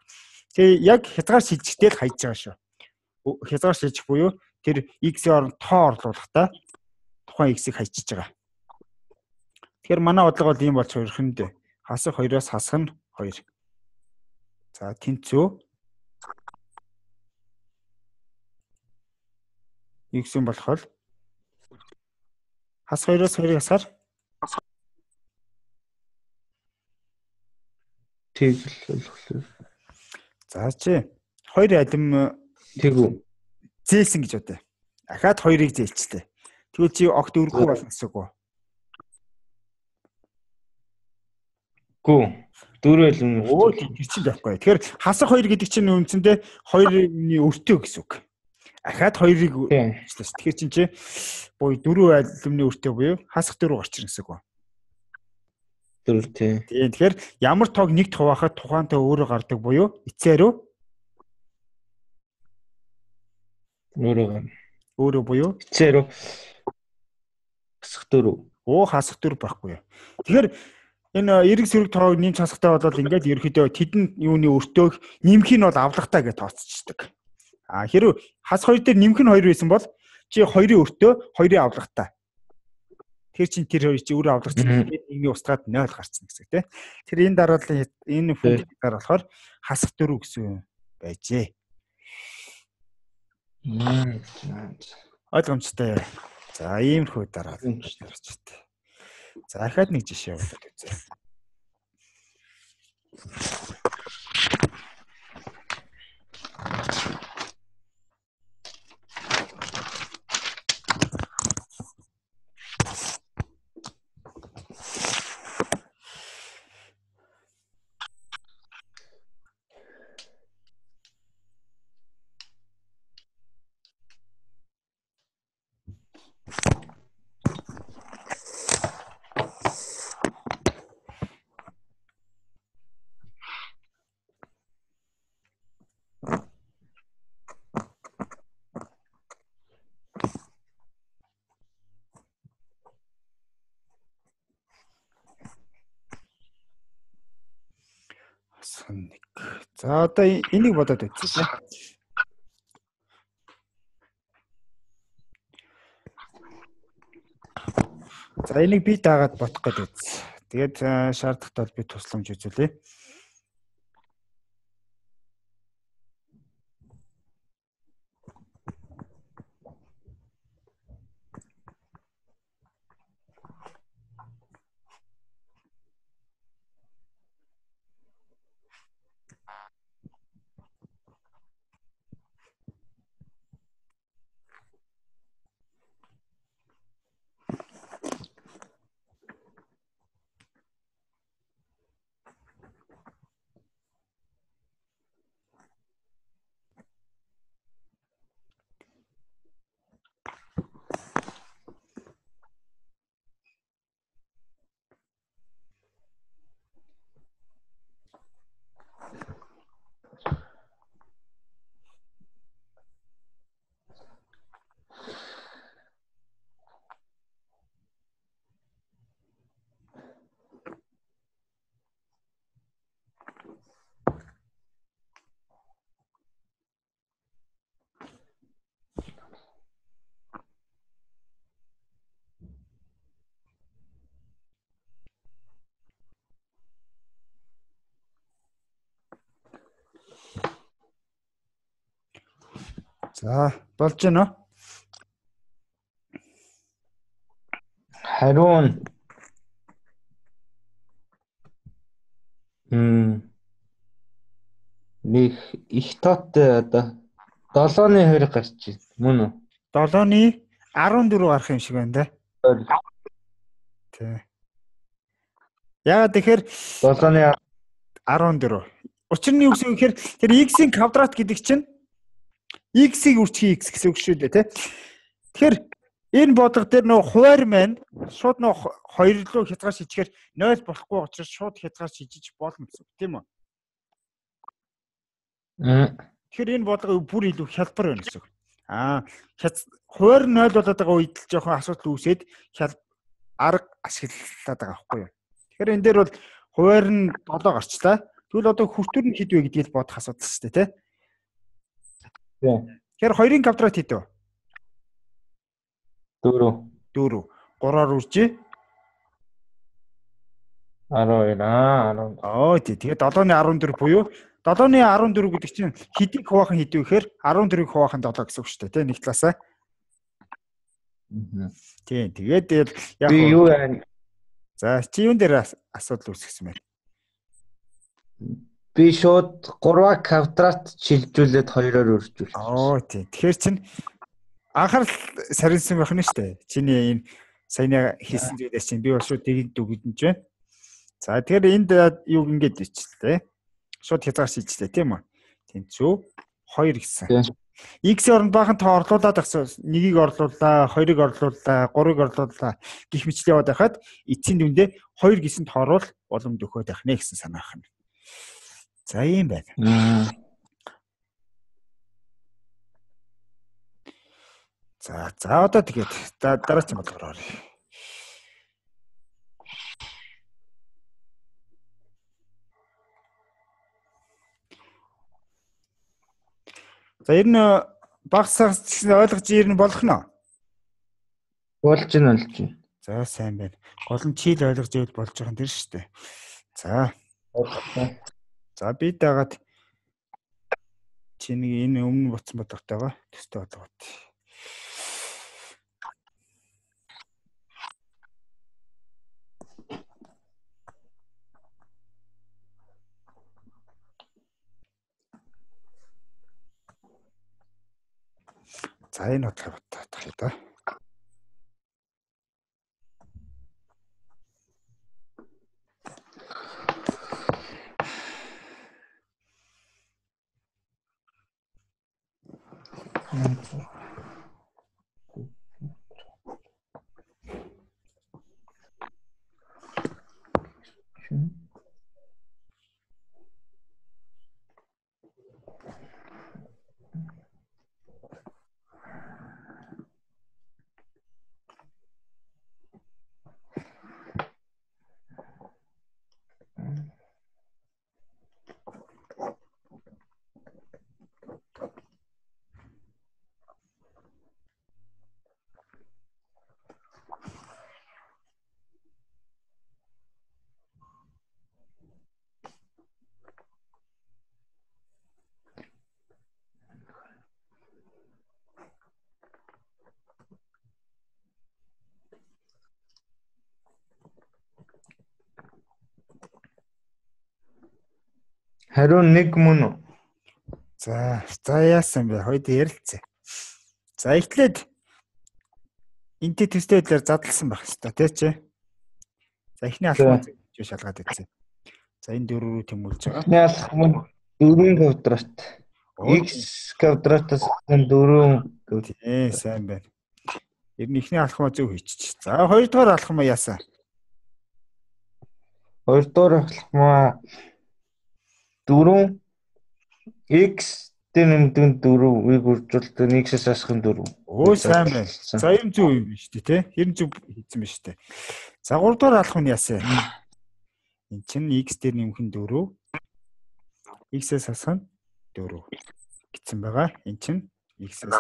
Тэгээ яг хязгаар шилжихтэй л хайж байгаа шүү. Хязгаар шилжих буюу тэр x-ийн оронд тоо орлуулахдаа тухайн x-ийг хайчиж байгаа. Тэгэхээр манай бодлого бол ийм болж хувирах нь дээ. Хасах хоёроос хасах нь хоёр. За тэнцүү x-ийн болохоор хас хоёроос хоёрыг хасаар тэг л болохоор. За чи хоёр алим тэгв. зээлсэн гэж бодъё. Дахиад хоёрыг зээлчлээ. Тэгвэл чи огт өргөхгүй болно гэсэн үг үү? Гүү. Дөрөв алим. Оо тэр чинь байхгүй. Тэгэхээр хасах хоёр гэдэг чинь үндсэндээ хоёрын өртөө гэсэн үг. Дахиад хоёрыг зээлчлээ. Тэгэхээр чинь чи буюу дөрөв алимны өртөө буюу хасах дөрөв гарч ирнэ гэсэн үг үү? Дөрөв тий. Тийм. Тэгэхээр ямар тоог нэгт хуваахад тухаантай өөрөө гардаг буюу эцээр үү? Өөрөө. Өөрөө буюу эцээр үү? Хасах дөрөв. Оо хасах дөрөв байхгүй. Тэгэхээр энэ эрг сөрөг тоог нэмж хасахтай болоод ингээд ерөөхдөө тэдэн юуны өртөөг нэмэх нь бол авлагатай гэж тооцчихдаг. А хэрвээ хас хоёр дээр нэмэх нь хоёр байсан бол чи хоёрын өртөө хоёрын авлагатай. Тэр чин тэр хоёр чи өөрөө авлагч нэгний устгаад нойл гарцсан гэсэн тийм. Тэр энэ дараалал энэ функцийн дараа болохоор хасах дөрөв гэсэн байжээ. Ойлгомжтой. За иймэрхүү дараалал гарчтай. За дахиад нэг жишээ болоод үзье. Нэг. За одоо энийг бодоод үзье. За энийг би дагаад бодох гэдэг үз. Тэгээд шаардлагатай би тусламж үзүүлье. За, болж байна уу? Хариу нь м нэг их тоотой одоо долооны хоёр гарч байна. Мөн үү? долооны арван дөрөв гарах юм шиг байна да. Тий. Яагаад тэгэхээр долооны арван дөрөв. Учир нь юу гэсэн юм гэхээр тэр x-ийн квадрат гэдэг чинь x-ийг үрчхийн x гэсэн үг шүү дээ, тий. Тэгэхээр энэ бодлого дээр нөө хуваар маань шууд нөө хоёр руу хязгаар шийдэхээр нуль болохгүй учраас шууд хязгаар шийдэж болно гэсэн үг, тийм үү? Тэгэхээр энэ бодлого бүр илүү хялбар байна гэсэн үг. Аа, хуваар нуль болоод байгаа үед л жоохон асуудал үүсээд арга ашиглаад байгаа байхгүй юу? Тэгэхээр энэ дээр бол хуваар нь долоо гарчлаа. Тэгвэл одоо хүртүр нь хэд вэ гэдгийг бодох асуудал шүү дээ, тий? Тий. Тэгэхээр хоёрын квадрат хэд вэ? дөрөв. дөрөв. гураар үржээ. арван хоёр аа арван. Оо тий. Тэгээд долооны арван дөрөв буюу долооны арван дөрөв гэдэг чинь хэдийг хуваах хэд вэ гэхээр арван дөрөвийг хуваах нь долоо гэсэн үг шүү дээ, тий? Нэг талаасаа. Тий. Тэгээд яг би юу яа. За, чи юун дээр асуудал үүсгэсэн бэ? Би шууд гурав квадрат шилжүүлээд хоёроор өржүүлсэн. Оо тий. Тэгэхээр чин анхаарал сарилсан байх нь шүү дээ. Чиний энэ саяны хийсэн зүйлээс чинь би бол шууд тийг дүгдэнж байна. За тэгэхээр энд юу ингэж ичлээ. Шууд хязгаар шийдчихлээ тийм үү? Тэнцүү хоёр гэсэн. X-ийн оронд баахан тоо орлуулад ахсан. Нэгийг орлууллаа, хоёрыг орлууллаа, гурыг орлууллаа гэх мэтлээ яваад байхад эцсийн дүндээ хоёр гэсэн тооруул боломж өгөхөд байх нэ гэсэн санаа байна. За юм байна. За за одоо тэгээд дараагийн бодлогоор оръё. За ер нь багсаас гэсэн ойлгож ер нь болох нь. Болж нь болж байна. За сайн байна. Гол нь чийл ойлгож ивэл болж байгаа юм дэр шүү дээ. За. За би дагаад чиний энэ өмнө буцсан бодлоготойгоо төстэй бодлогот. За энэ бодлого бодох юм да. Хариу нэг мөн үү? За, за яасан бэ? Хойд ярилцъя. За эхлээд энтэй төстэй байдлаар задлсан байх хэвээр тий чи. За эхний алхам зөв шалгаад үзье. За энэ дөрөв рүү тэмүүлж байгаа. Эхний алхам дөрвөн квадрат. X квадратаас дөрөв. Тий, сайн байна. Ер нь эхний алхмаа зөв хийчих. За хоёрдугаар алхмаа яасан? Хоёрдугаар алхмаа дөрөв x дээр нэмдэг дөрөвийг үржүүлдэг x-ээс асах дөрөв. Өө сайн байна. За юм зөв юм биш үү те? Ер нь зөв хийсэн байна шүү дээ. За гурав дахь алхам нь яасан? Энд чинь x дээр нэмэх нь дөрөв. X-ээс асах нь дөрөв гэсэн байгаа. Энд чинь x-ээс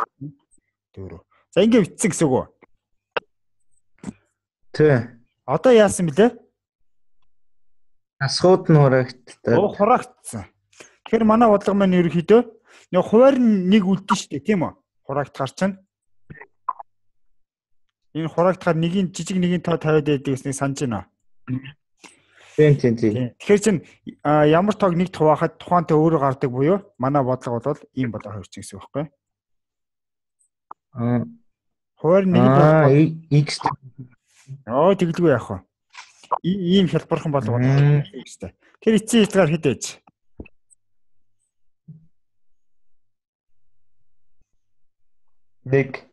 дөрөв. За ингэ бичсэн гэсэн үг үү? Тий. Одоо яасан бэлээ? Асгууд нь хураагдтаа. Оо хураагдсан. Тэгэхээр манай бодлого маань ерөөхдөө нэг хуваар нэг үлдэн шүү дээ, тийм үү? хураагт гарчна. Энэ хураагтахаар нэгийн жижиг нэгийн тоо тавиад байдаг гэснийг санаж байна уу? Тийм тийм тийм. Тэгэхээр чинь ямар тоог нэг хуваахад тухаантай өөрөө гардаг буюу манай бодлого бол ийм болоо хоёр ч гэсэн үг байхгүй. Аа. Хуваар нэг л x оо тэглгүй яах вэ? Ийм хялбархан болго болоо гэжтэй. Тэр эцсийн хязгаар хэд байж? нэг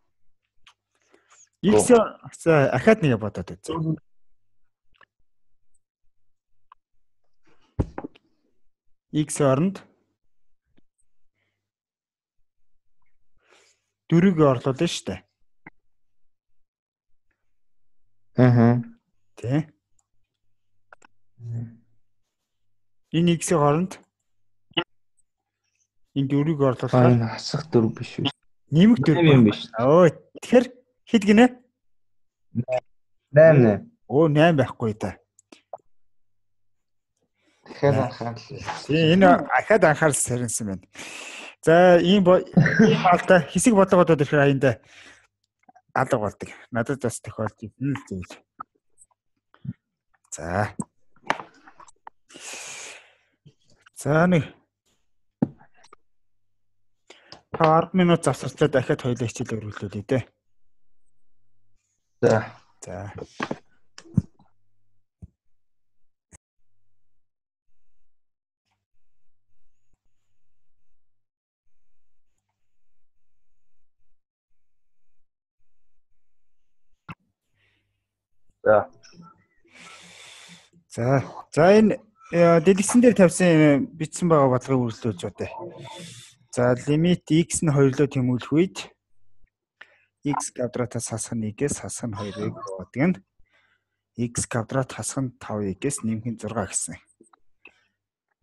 X за ахаад нэг бодоод үзье. X оронд дөрөв орлуулна шүү дээ. Аа. Тэ. Энэ X-ийн оронд энэ дөрөв орлуулахаар энэ хасах дөрөв биш үү? Нэмэх дөрөв юм биш. Өө тэгэхээр хэд гинэ? найман. Оо найман байхгүй да. Тэгэхээр анхаарал. Энэ ахаад анхаарал сарнсан байна. За ийм ийм алда хэсэг бодлогоодод ирэхээр аяндаа алга болдог. Надад бас тохиолдсон юм зүйл. За. За нэг ард минут завсарчлаа дахиад хоёулаа хичээл өргөлүүлээ дээ. За. За. За. За. За энэ дэлгэцэн дээр тавьсан бичсэн байгаа бодлогыг үргэлжлүүлж байна. За лимит x нь хоёрлоо тэмүүлэх үед x квадратаас хасах нэгээс хасах нь хоёрыг бодгоно. X квадрат хасах нь таван x-ээс нэмэх нь зураг гэсэн.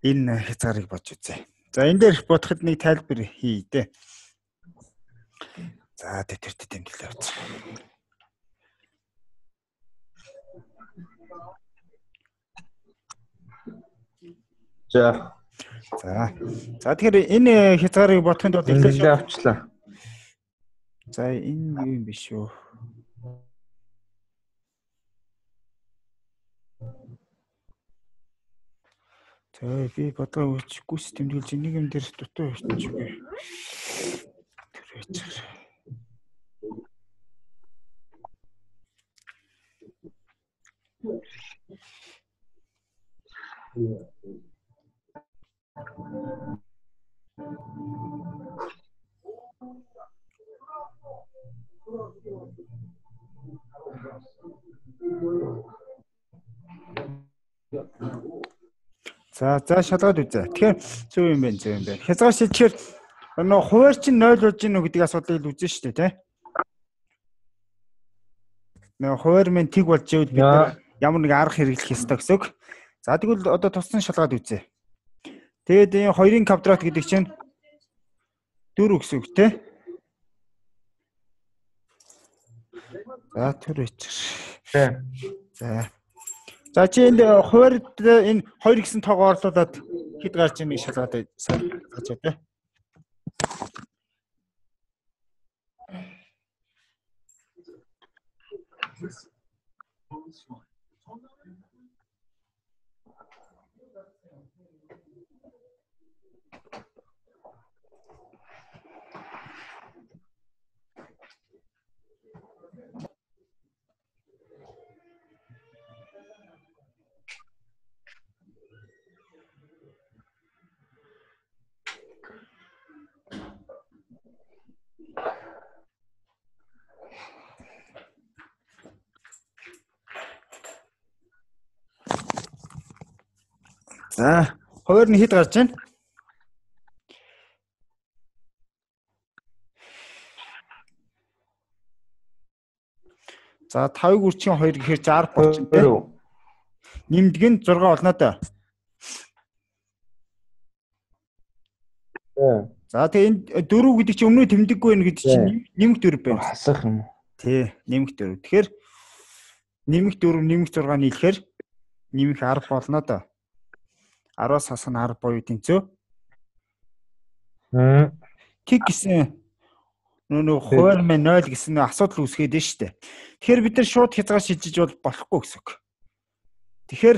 Энэ хязгаарыг бодж үзье. За энэ дээр бодоход нэг тайлбар хий дээ. За тэтэрт тэмдэглээ явууц. За. За. За тэгэхээр энэ хязгаарыг бодохын тулд эхлээд авчлаа. За энэ юу юм биш үү? За би бодлого үүсгэхгүйс тэмдэглэж нэг юм дээр дутуу явчих үгүй. Тэр байж. За за шалгаад үзье. Тэгэхээр зөв юм байна, зөв юм байна. Хязгаар шилжчихэр нөө хуваар чинь ноль болж гинүү гэдэг асуудлыг л үзэн шүү дээ, тий? Нөө хуваар минь тэг болж ивэл бид ямар нэг арга хэрэглэх ёстой гэсэн үг. За тэгвэл одоо туссан шалгаад үзье. Тэгээд энэ хоёрын квадрат гэдэг чинь дөрөв гэсэн үг, тий? За тэр үчир. За. За чи энд хуваард энэ хоёр гэсэн тоогоо орлуулад хэд гарч ийнэ шалгаад саж байгаа. За, хоёр нь хэд гарч байна? За, тавыг үрчийн хоёр гэхээр шестьдесят болчихно тийм. Нэмдэг нь зураг олно доо. За, тэгээ энэ дөрөв гэдэг чинь өмнө тэмдэггүй байх гэдэг чинь нэмэх дөрөв байна. Хасах юм уу? Тий, нэмэх дөрөв. Тэгэхээр нэмэх дөрөв, нэмэх зураг нийлэхээр нэмэх арга болно доо. араас хасах нь арга боёо тэнцөө. Хм. Тэг гэсэн Нөө хуваар мэн ноль гэсэн асуудал үүсгээд нь шүү дээ. Тэгэхээр бид нар шууд хязгаар шилжиж бол болохгүй гэсэн үг. Тэгэхээр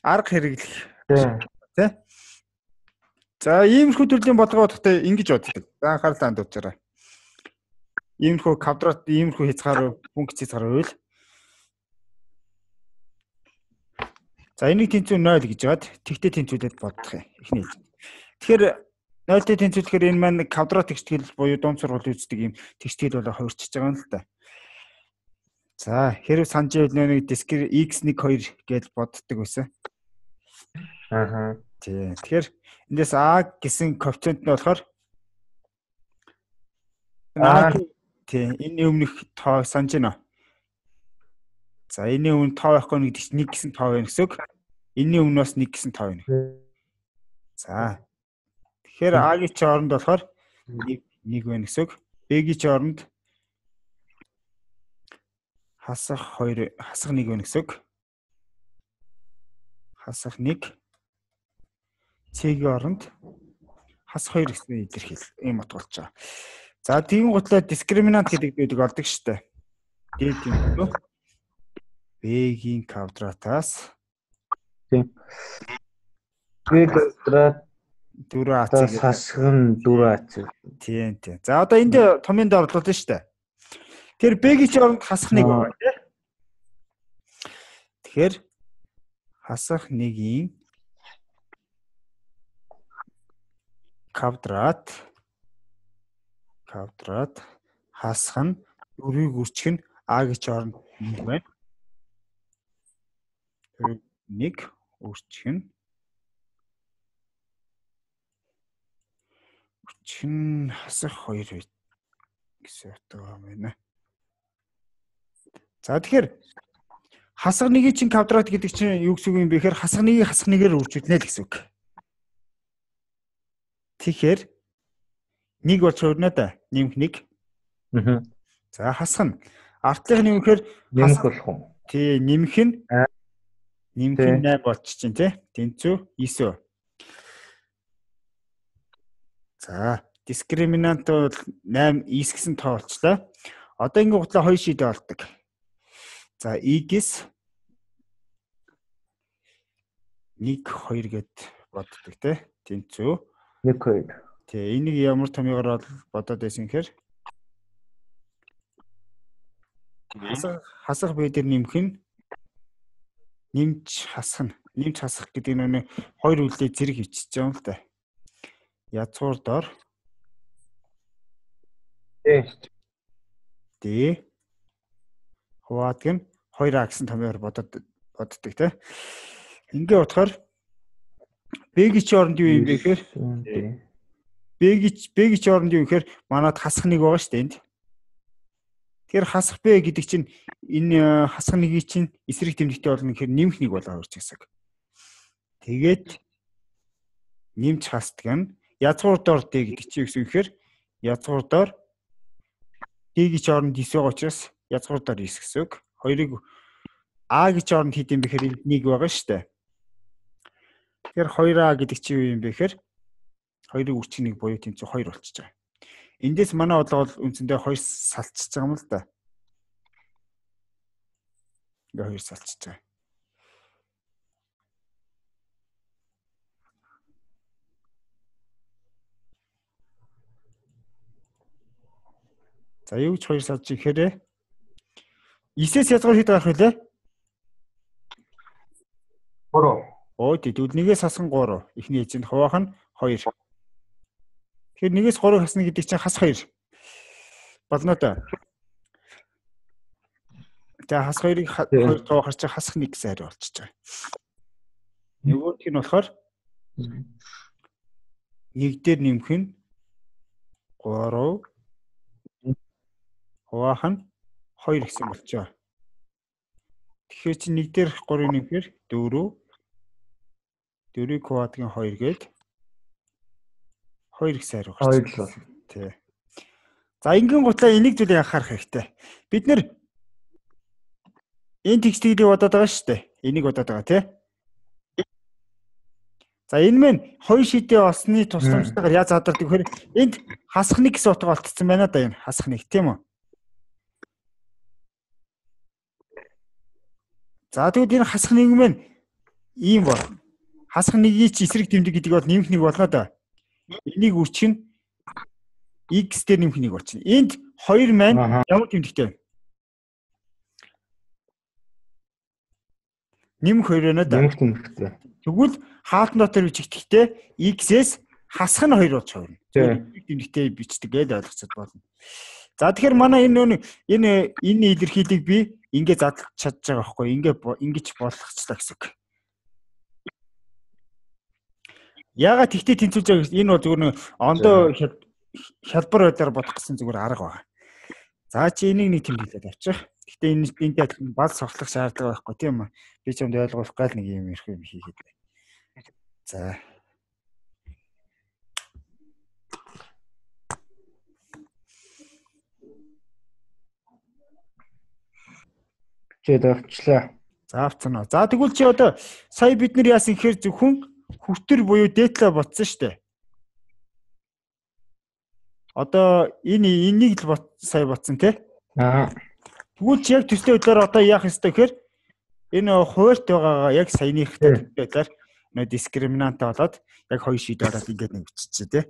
арга хэрэглэх тий. За иймэрхүү төрлийн бодлого бодохтой ингэж боддог. За анхаарлаа хандуулаарай. Иймэрхүү квадрат, иймэрхүү хязгаар, функц хязгаар байвал за энийг тэнцүү ноль гэж яад тэгтээ тэнцвүүлээд бодох юм. Эхний хэлж. Тэгэхээр нольтой тэнцвүүлэхээр энэ маань квадрат тэгштгэл буюу дунд сургууль үздэг юм тэгштгэл болоо хувирчиж байгаа юм л та. За хэрв санаж байвал нэг дискр x one two гэж боддог байсан. Аа. Тий. Тэгэхээр эндээс a гэсэн коэффициент нь болохоор а тий энэ өмнөх тоо санаж байна. За энэ өмнө тоо байхгүй нэг чинь one гэсэн тоо байна гэсэн үг. Энийн өмнө бас one гэсэн тоо байна. За. Тэгэхээр a-гийн чи оронд болохоор one байна гэсэн үг. B-гийн чи оронд хасах two хасах one байна гэсэн үг. Хасах one. C-гийн оронд хасах two гэсэн илэрхийл ийм утга болж байгаа. За тийм готлоо дискриминант гэдэг байдаг олдог шүү дээ. Дээд юм. B-гийн квадратаас тийм. B квадрат four a c хасган four a c. Тийм тийм. За одоо энд томьёонд орлуулна шүү дээ. Тэгэхээр B-гийн чи оронд хасах one байгаа тийм. Тэгэхээр хасах one-ийн квадрат квадрат хасах нь four-ыг үржих нь a-гийн чи оронд one байна. one үржих нь үржих нь хасах two гэсэн утга байна. За тэгэхээр хасах one-ийн чинь квадрат гэдэг чинь юу гэсэн үг юм бэ гэхээр хасах one-ийг хасах one-ээр үржүүлнэ л гэсэн үг. Тэгэхээр one болж хувирна да. Нэмэх one. Аа. За хасах нь артлынх нь юу гэхээр нэмэх болох уу? Тий, нэмэх нь нэмэх нь eight болчихжин тий. Тэнцүү nine. За, дискриминант бол eight is гэсэн тоо болчлаа. Одоо ингэ гутлаа two шийдэ болдог. За, x one two гэд боддог тий. Тэнцүү one two. Тий, энийг ямар томьёогоор бодоод байсан гэхээр хасах хасах бай дээр нэмэх нь нэмж хасах нь нэмж хасах гэдэг нь хоёр үлээ зэрэг хичиж байгаа юм л да. Язгуур дор Э Д хуваадаг нь two a гэсэн томьёогоор бодод боддог тий. Ингээ утгаар B-гийн чи оронд юу юм бэ гэхээр B-гийн B-гийн чи оронд юу гэхээр манад хасах нэг байгаа шүү дээ энд. Тэгэхээр хасах B гэдэг чинь энэ хасах нэгийг чинь эсрэг тэмдэгтэй болно гэхээр нэмэх нэг болоо орж гэсэн. Тэгээд нэмж хасдаг нь язгуур дор D гэдэг чинь юу гэсэн гэхээр язгуур дор D-гийн чи оронд nine байгаа учраас язгуур дор nine гэсэн үг. Хоёрыг A-гийн чи оронд хэд юм бэ гэхээр one байгаа шүү дээ. Тэгэхээр two a гэдэг чи юу юм бэ гэхээр хоёрыг үрчих нэг буюу тэнцүү two болчихж байгаа. Эндээс манай бодлого бол үндсэндээ two салцж байгаа юм л да. Ингээ two салцж байгаа. За юу ч two салж ихээр nine-с язгаар хэд гарах вүлээ? three. Оо тэгвэл нэгээс хасган three. Эхний эзэнд хуваах нь two. Тэгэхээр нэгээс three хасна гэдэг чинь хас two. Болно да. Тэгээ хас two-ыг two тоохор чи хасах one гэсэн хариу болчихж байгаа. Нөгөөх нь болохоор one дээр нэмэх нь three хуваах нь two гэсэн болчихоо. Тэгэхээр чи one дээр three нэмэхээр four four-ыг хуваадгийн two гээд two гэсэн хариу гарч байна. Тий. За ингийн гутлаа энийг зүйлийг анхаарах хэрэгтэй. Бид нэр энэ текстийг бодоод байгаа шүү дээ. Энийг бодоод байгаа тий. За энэ мэн хоёр шидээ олсны тусламжтайгаар яаж задардаг вэхээр энд хасах нэг гэсэн утга олтцсон байна да энэ хасах нэг тийм үү. За тэгвэл энэ хасах нэг мэн ийм бол хасах нэгийг чи эсрэг тэмдэг гэдэг бол нэмэх нэг болно да. Энийг үрчгэн x дээр нэмэх нэг болчихно. Энд хоёр маань ямар тэмдэгтэй вэ? Нэмэх хоёр байна да. Нэмэх тэмдэгтэй. Тэгвэл хаалтан дотор бичигдэхдээ x-ээс хасах нь хоёр болж хувирна. Эсрэг тэмдэгтэй бичдэг гэж ойлгоцод болно. За тэгэхээр манай энэ энэ энэ илэрхийлийг би ингэ задлах чадж байгаа байхгүй ингэ ингэж болгоцлоо гэсэн үг. Яагаад тэгтээ тэнцвүүлж байгаа энэ бол зүгээр нэг ондоо хялбар байдлаар бодох гэсэн зүгээр арга байна. За чи энийг нэг тэмдэглээд авчих. Гэтэ энэ энтэй адилхан бал соглох шаардлага байхгүй тийм үү? Би ч юмд ойлгуулах гал нэг юм ирэх юм хийгээд байна. За. Чээд авчлаа. За авцсан уу. За тэгвэл чи одоо сая бид нар яасан гэхээр зөвхөн хүртэр буюу дээдлээ ботсон шүү дээ. Одоо энэ энийг л сая ботсон тий? Аа. Тэгвэл чи яг төслийн хөдлөөр одоо яах ёстой гэхээр энэ хуурт байгаагаа яг саяныхтай байдлаар нөө дискриминант болоод яг хоёр шийд ороод ингээд нэг биччихэ тий?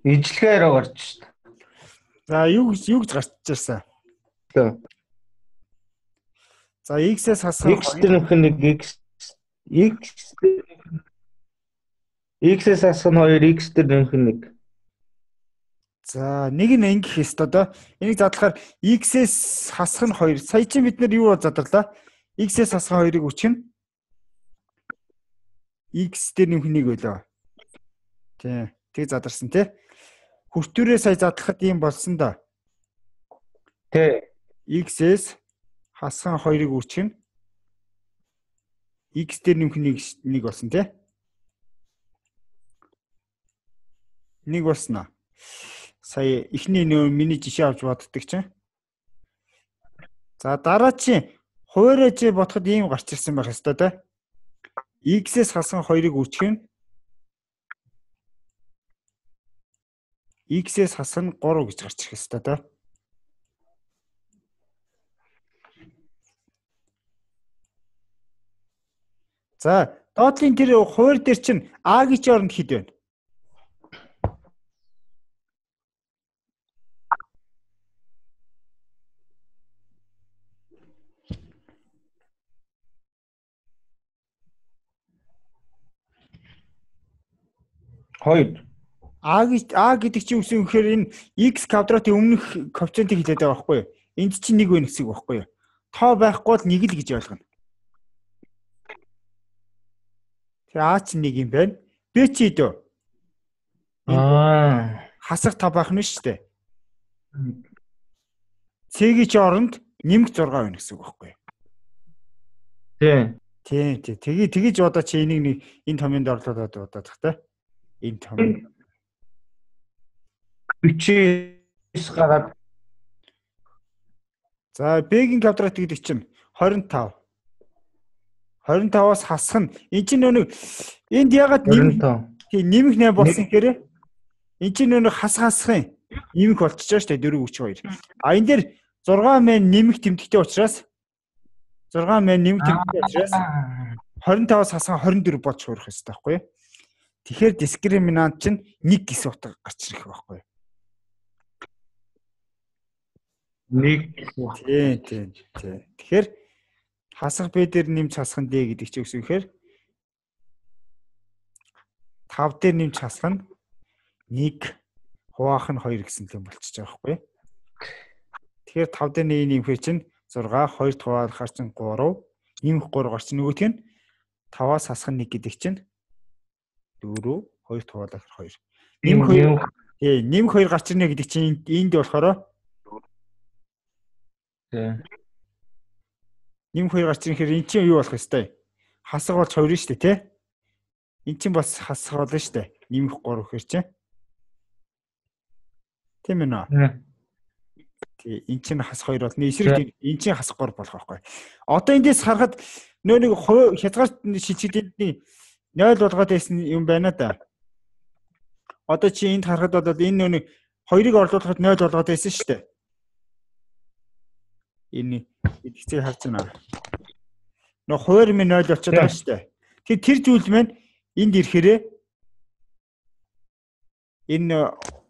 Ижлэгээр гарч шít. За юу юу гэж гарч ирсэн? За x-ээс хасах x дээр нөх нэг x x x-ээс хасах нь хоёр x дээр нөх нэг. За нэг нь ингэх ёстой доо. Энийг задлахаар x-ээс хасах нь хоёр. Сая чи бид нар юу задарлаа? X-ээс хасах хоёрыг үчгэн x дээр нэмэх нэг байлаа. Тий. Тэг задарсан тий. Хүртүүрээ сая задлахад ийм болсон да. Тий. X-ээс хасах хоёрыг үчгэн x дээр нэмэх нэг нэг болсон тий. Нэг болсноо. Сая ихний нөө миний жишээ авч боддог чинь. За дараа чи хуурайж бодоход ийм гарч ирсэн байх ёстой тий. X-ээс хасах хоёрыг үчгэн x-ээс хасах нь гурав гэж гарч ирэх ёстой тий. За доотлын тэр хуваар дээр чинь а-гийн оронд хэд вэ? Хоёр. А а гэдэг чинь үсэн гэхээр энэ x квадратын өмнөх коэффициентийг хэлээд байгаа байхгүй юу? Энд чинь нэг вэ гэсэн үг байхгүй юу? Тоо байхгүй бол нэг л гэж ойлгоно. Тэгээ а чинь нэг юм байна. Б чи хэдөө? Аа. Хасах та байх нь шүү дээ. Цэгийн чи оронд нэмэх зураг байна гэсэн үг байхгүй юу? Тий. Тий, тий. Тэгээ тэгэж одоо чи энийг нэг энэ томьёонд орлуулад удаад тах та. Энэ том. бичээс гараад. За Б-ийн квадрат гэдэг чинь двадцать пять. хорин таваас хасах нь энэ чинь нэг энд ягаад нэмэх тийм нэмэх нэ болсон гэхээр энэ чинь нэг хас хасахын нэмэх болчихж байгаа шүү дээ дөрөв хүч хоёр. А энэ дээр зургаан мэн нэмэх тэмдэгтэй учраас зургаан мэн нэмэх тэмдэгтэй учраас хорин таваас хасах хорин дөрөв болж хуурах хэрэгтэй байхгүй юу? Тэгэхээр дискриминант чинь нэг гис утга гарч ирэх байхгүй юу? Нэг тийм тийм тийм. Тэгэхээр хасах B дээр нэмж хасах нь D гэдэг чинь юу гэхээр тав дээр нэмж хасах нь нэг хуваах нь хоёр гэсэн юм болчихж байгаа байхгүй юу? Тэгэхээр тав дээр нэг нэмэхээр чинь зургаа хоёр хуваахаар чинь гурав нэмэх гурав гарч нөгөөх нь таваас хасах нь нэг гэдэг чинь дөрөв хоёр хуваалах хоёр. Нэмэх хоёр тий нэмэх хоёр гарч ирнэ гэдэг чинь энд болохоор тий нэмэх хоёр гарч ирэхээр эн чинь юу болох ёстой? Хасах болж хоёр шүү дээ тий. Эн чинь бас хасах болно шүү дээ. Нэмэх гурав гэхэр чинь тийм ээ нөө. Тий эн чинь хасах хоёр болно. Эсрэг эн чинь хасах гурав болох байхгүй. Одоо эндээс харахад нөө нэг хязгаар шилжүүлэлтний нойл болгоод байсан юм байна да. Одоо чи энд харахад бол энэ нөө нэг хоёрыг орлуулахад нойл болгоод байсан шүү дээ. Энэ эдгцээ харж байна. Нөө хуваар минь нойл болчиход байгаа шүү дээ. Тэгэхээр тэр зүйл маань энд ирэхээрээ энэ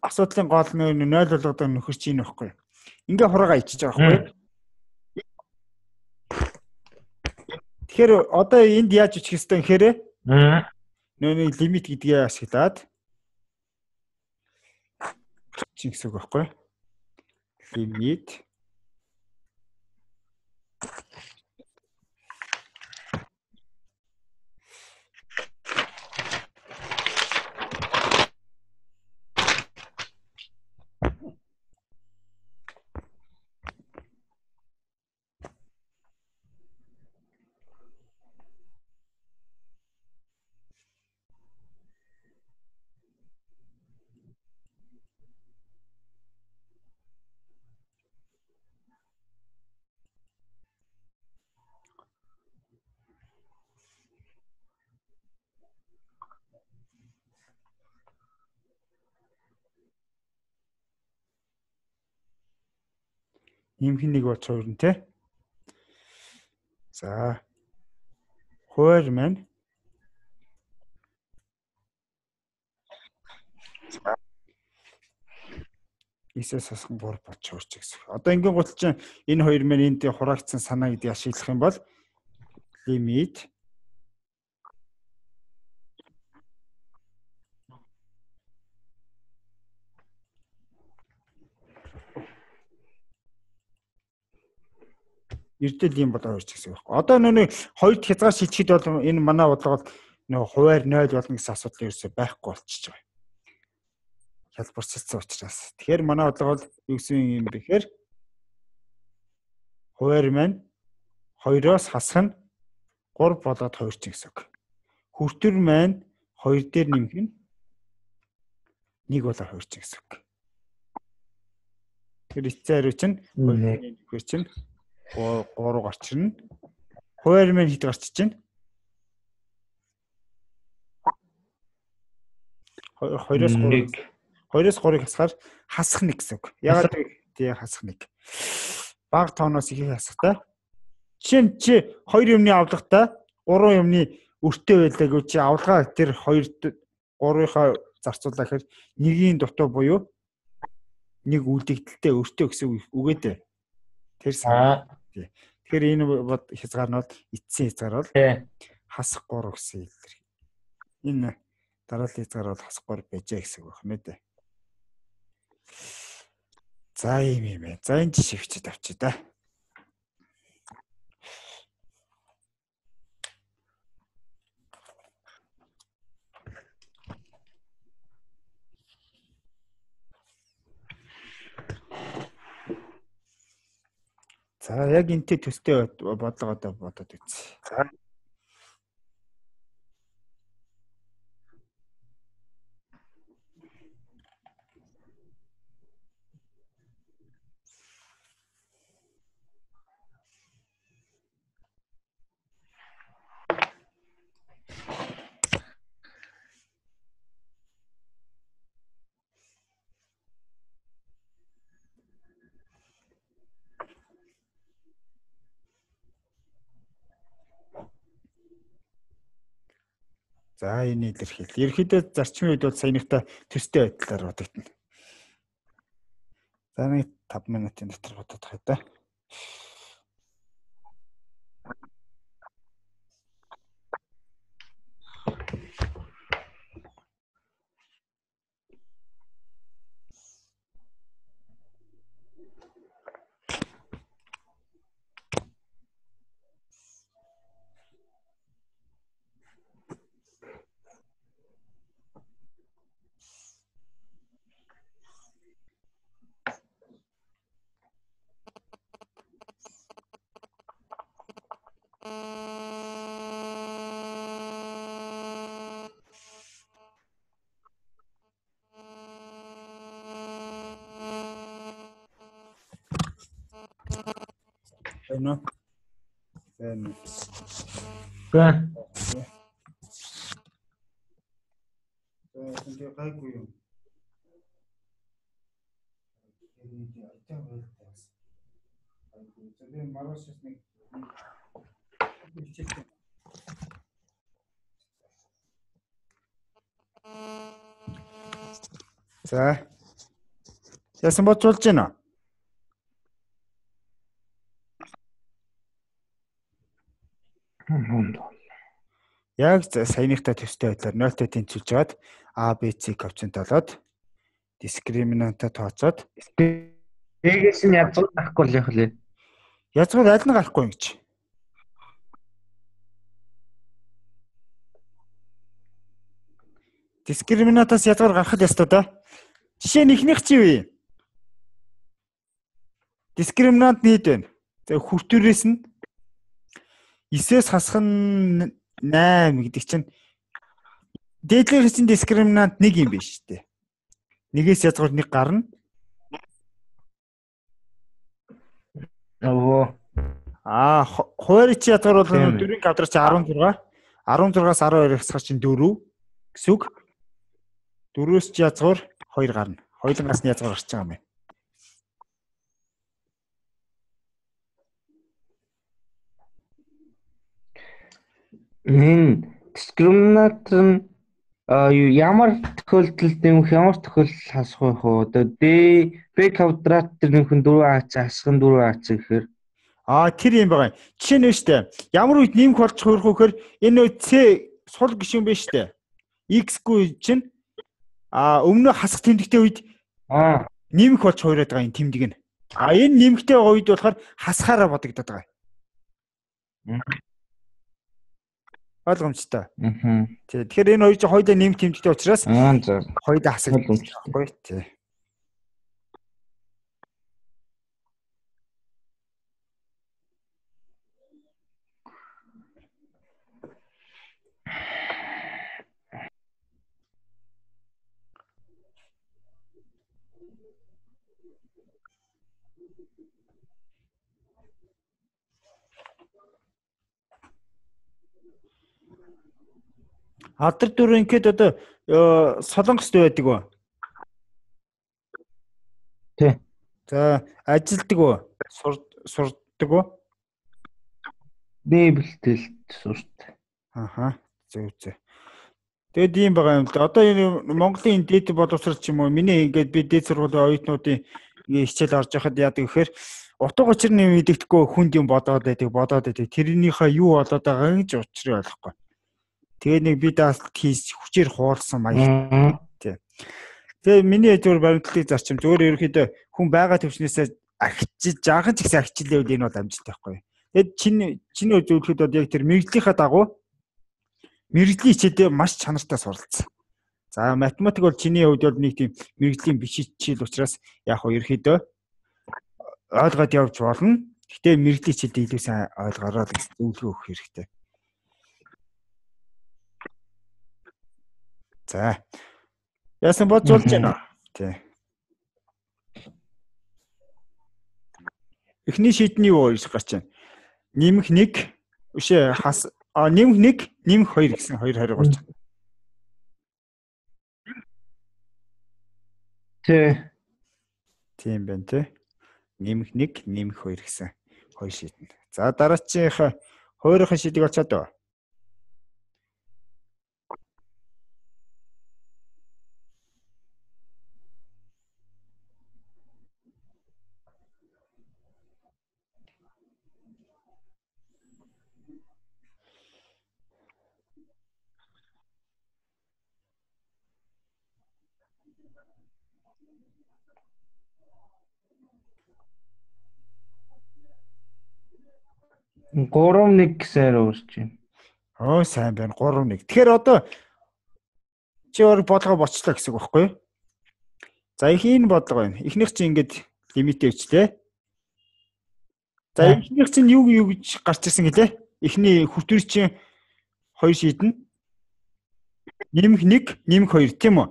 асуудлын гол нь нойл болгоод нөхөр чинь байхгүй. Ингээ хураагаа ичиж байгаа байхгүй. Тэгэхээр одоо энд яаж ичих хэвтэй гэхээр нөөний лимит гэдгээ ашиглаад чи гэсэн үг байхгүй. Лимит нэмэх нэг боч хоёр нь те. За. Хуваар маань Исээс хасхан гурав боч хоёр ч гэсэн. Одоо ингийн гутал чинь энэ хоёр маань энд хураагдсан санаа гэдгийг ашиглах юм бол лимит эрдэл юм болоо хоёр ч гэсэн байхгүй. Одоо нүг хоёрт хязгаар шилжихэд бол энэ манай бодлогод нөө хуваар нойл болно гэсэн асуудал ерөөсөй байхгүй болчихж байгаа. Хялбарчилсан учраас. Тэгэхээр манай бодлого бол юу гэсэн юм бэ гэхээр хуваар маань хоёроос хасах нь гурав болоод хоёр ч гэсэн үг. Хүртэр маань хоёр дээр нэмэх нь нэг болоод хоёр ч гэсэн үг. Тэр эцсийн хариу чинь хоёр чинь гурав гарч ирнэ. Хуваар маань хэд гарч ичнэ? Хоёроос гурав. Хоёроос гурвыг хасахаар хасах нэг гэсэн үг. Ягаад тий хасах нэг. Бага тооноос ихийг хасахтаа. Жишээ нь чи хоёр юмны авлагатай гурван юмны өртөө байлаа гэж чи авлагаа тэр хоёр гурвынхаа зарцуулаа гэхээр нэгийн дутуу буюу нэг үлдэгдэлтэй өртөө гэсэн үг ээ. Тэр сан. Тэгэхээр энэ хязгаар нь бол эцсийн хязгаар бол хасах гурав гэсэн илэрхий. Энэ дараалал хязгаар бол хасах гурав байжээ гэсэн үг байна дээ. За юм юм ээ. За энэ жишээ бичиж авчи да. За яг энтэй төстэй бодлого одоо бодоод үз. За За энэ илэрхийл. Ерөнхийдөө зарчмын үед бол саяныхтай төстэй байдлаар бодогдно. За нэг таван минутын дотор бодох хэрэгтэй. Эно. Эно. Гэ. За энэ гайгүй юм. Энэ айтаа байлтаас. Айгүй. Тэгээд маргааш нэг хичээлтэй. За. Яасан бодволж байна? Яг саяныхтай төстэй байдлаар нолтой тэнцвүүлж жаад А, Б, С коэффициент олоод дискриминантаа тооцоод Эгээс нь язгуур гарахгүй л явах лээ. язгуур аль нь гарахгүй юм гэж. Дискриминантаас язгуур гарах ёстой да. Жишээ нь ихнийх чи юу? Дискриминант нийт байна. За хүртүүрээс нь девять-ээс хасах нь восемь гэдэг чинь дээдлээс чинь дискриминант нэг юм биш үү? Нэгээс язгуур нэг гарна. Оо. Аа, хуваар чи язгуур бол дөрвийн квадрат чи арван зураг. арван зургаас арван хоёр хасах чинь дөрөв гэсэн үг. дөрвөөс чи язгуур хоёр гарна. Хоёулангаас нь язгуур гарч байгаа юм байна. Энэ дискриминант нь ямар тохиолдолд нэмэх, ямар тохиолдолд хасах вэ хөө? Одоо D B квадрат тэр нөхөн дөрвөн аац хасах нь дөрвөн аац гэхээр Аа тэр юм байгаа. Жишээ нь штэ. Ямар үед нэмэх болж хөрөх вөхөр энэ нөө C сул гишүүн биш штэ. X-гүй чинь а өмнө хасах тэмдэгтэй үед аа нэмэх болж хуураад байгаа энэ тэмдэг нь. А энэ нэмэхтэй байгаа үед болохоор хасахаараа бодогдоод байгаа. Ойлгомжтой. Аа. Тий. Тэгэхээр энэ хоёр чинь хоёулаа нэмэх тэмдэгтэй учраас Аа за. хоёулаа хасах байхгүй тий. Алдар дүр ингээд одоо солонгост байдаг уу? Тий. За ажилдаг уу? Сурдаг уу? Би бэлтгэлд сурт. Аха. Зөв зөв. Тэгэд ийм байгаа юм л да. Одоо энэ Монголын дээд боловсрол ч юм уу миний ингээд би дээд сургуулийн оюутнуудын хичээл орж байхад яадаг гэхээр утга учир нь мэддэхгүй хүнд юм бодоод байдаг, бодоод байдаг. Тэрнийхээ юу болоод байгааг ч учрыг ойлгохгүй. Тэгээ нэг би даалт хийж хүчээр хуулсан маяг. Тий. Тэгээ миний зөвөр баримтлалыг зарчим зөвөр ерөөхдөө хүн байгаа төвчнээсээ агчиж, жаахан ч гэсэн агчлаа үл энэ бол амжилттай байхгүй. Тэгэд чиний чиний зөвлөхөд бол яг тэр мэрэгжлийнхаа дагуу мэрэгжлийн хичээлдээ маш чанартай суралцсан. За математик бол чиний хувьд бол нэг тийм мэрэгжлийн биш хичээл учраас яг хоо ерөөхдөө ойлгоод явж болно. Гэхдээ мэрэгжлийн хичээлдээ илүү сайн ойлгороо гэж зөвлөгөө өгөх хэрэгтэй. За. Яасан бодж болж байна. Тий. Эхний шийдний юу гэж гарч байна? Нэмэх нэг үшээ хас а нэмэх нэг нэмэх хоёр гэсэн хоёр хариу гарч байна. Тий. Тийм байна тий. Нэмэх нэг нэмэх хоёр гэсэн хоёр шийднэ. За дараачих хоёрын шийдийг олцоод. гурав нэг гэсээр өөрч юм. Оо сайн байна. гурав нэг. Тэгэхээр одоо чи өөр бодлого боцлоо гэсэн үг байхгүй юу? За их энэ бодлого байна. Эхнийх чинь ингээд лимит өвчлээ. За эхнийх чинь юу юу гэж гарч ирсэн гэлээ? Эхний хүртвэр чинь хоёр шийднэ. Нэмэх нэг, нэмэх хоёр тийм үү?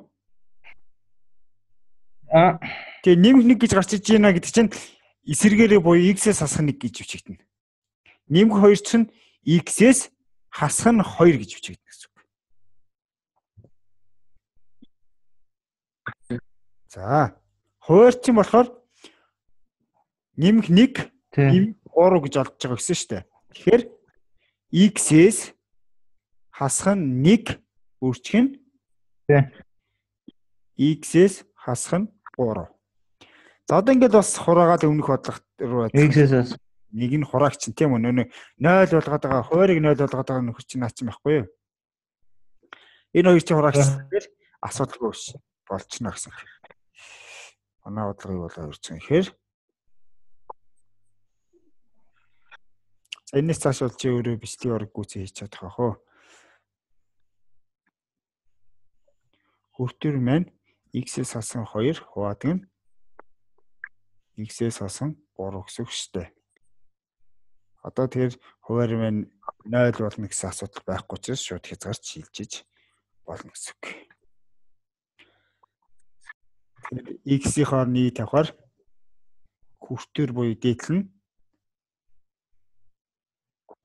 А тэгээ нэмэх нэг гэж гарч иж байна гэдэг чинь эсэргээрээ буюу x-ээс хасах нэг гэж бичигдэнэ. Нэмэх хоёр чинь x-ээс хасах нь хоёр гэж бичигдэнэ гэсэн үг. За, хуваар чинь болохоор нэмэх нэг, нэмэх гурав гэж олдож байгаа гэсэн шүү дээ. Тэгэхээр x-ээс хасах нь нэг өөрчлөх нь x-ээс хасах нь гурав. За одоо ингээд бас хураагаад өмнөх бодлого руу x-ээс нэг нь хураагч чинь тийм үү нөө нойл болгоод байгаа хуваарийг нойл болгоод байгаа нөхөр чинь наач юм байхгүй юу? Энэ хоёр чинь хураагч гэхээр асуудалгүй биш болчихно гэсэн. Манай бодлого юу болоо ирсэн гэхээр за энэс цааш бол чи өөрөө бичлэг орог гүйцээ хийж чадах аа хөө. Хүртвэр маань x-ээс хасан хоёр хуваадаг нь x-ээс хасан гурав гэсэн үг шүү дээ. Одоо тэгэхээр хуваар маань нойл болно гэсэн асуудал байхгүй учраас шууд хязгаарч шилжиж болно гэсэн үг. X-ийн хоорны тавихаар хүртвэр буюу дээдл нь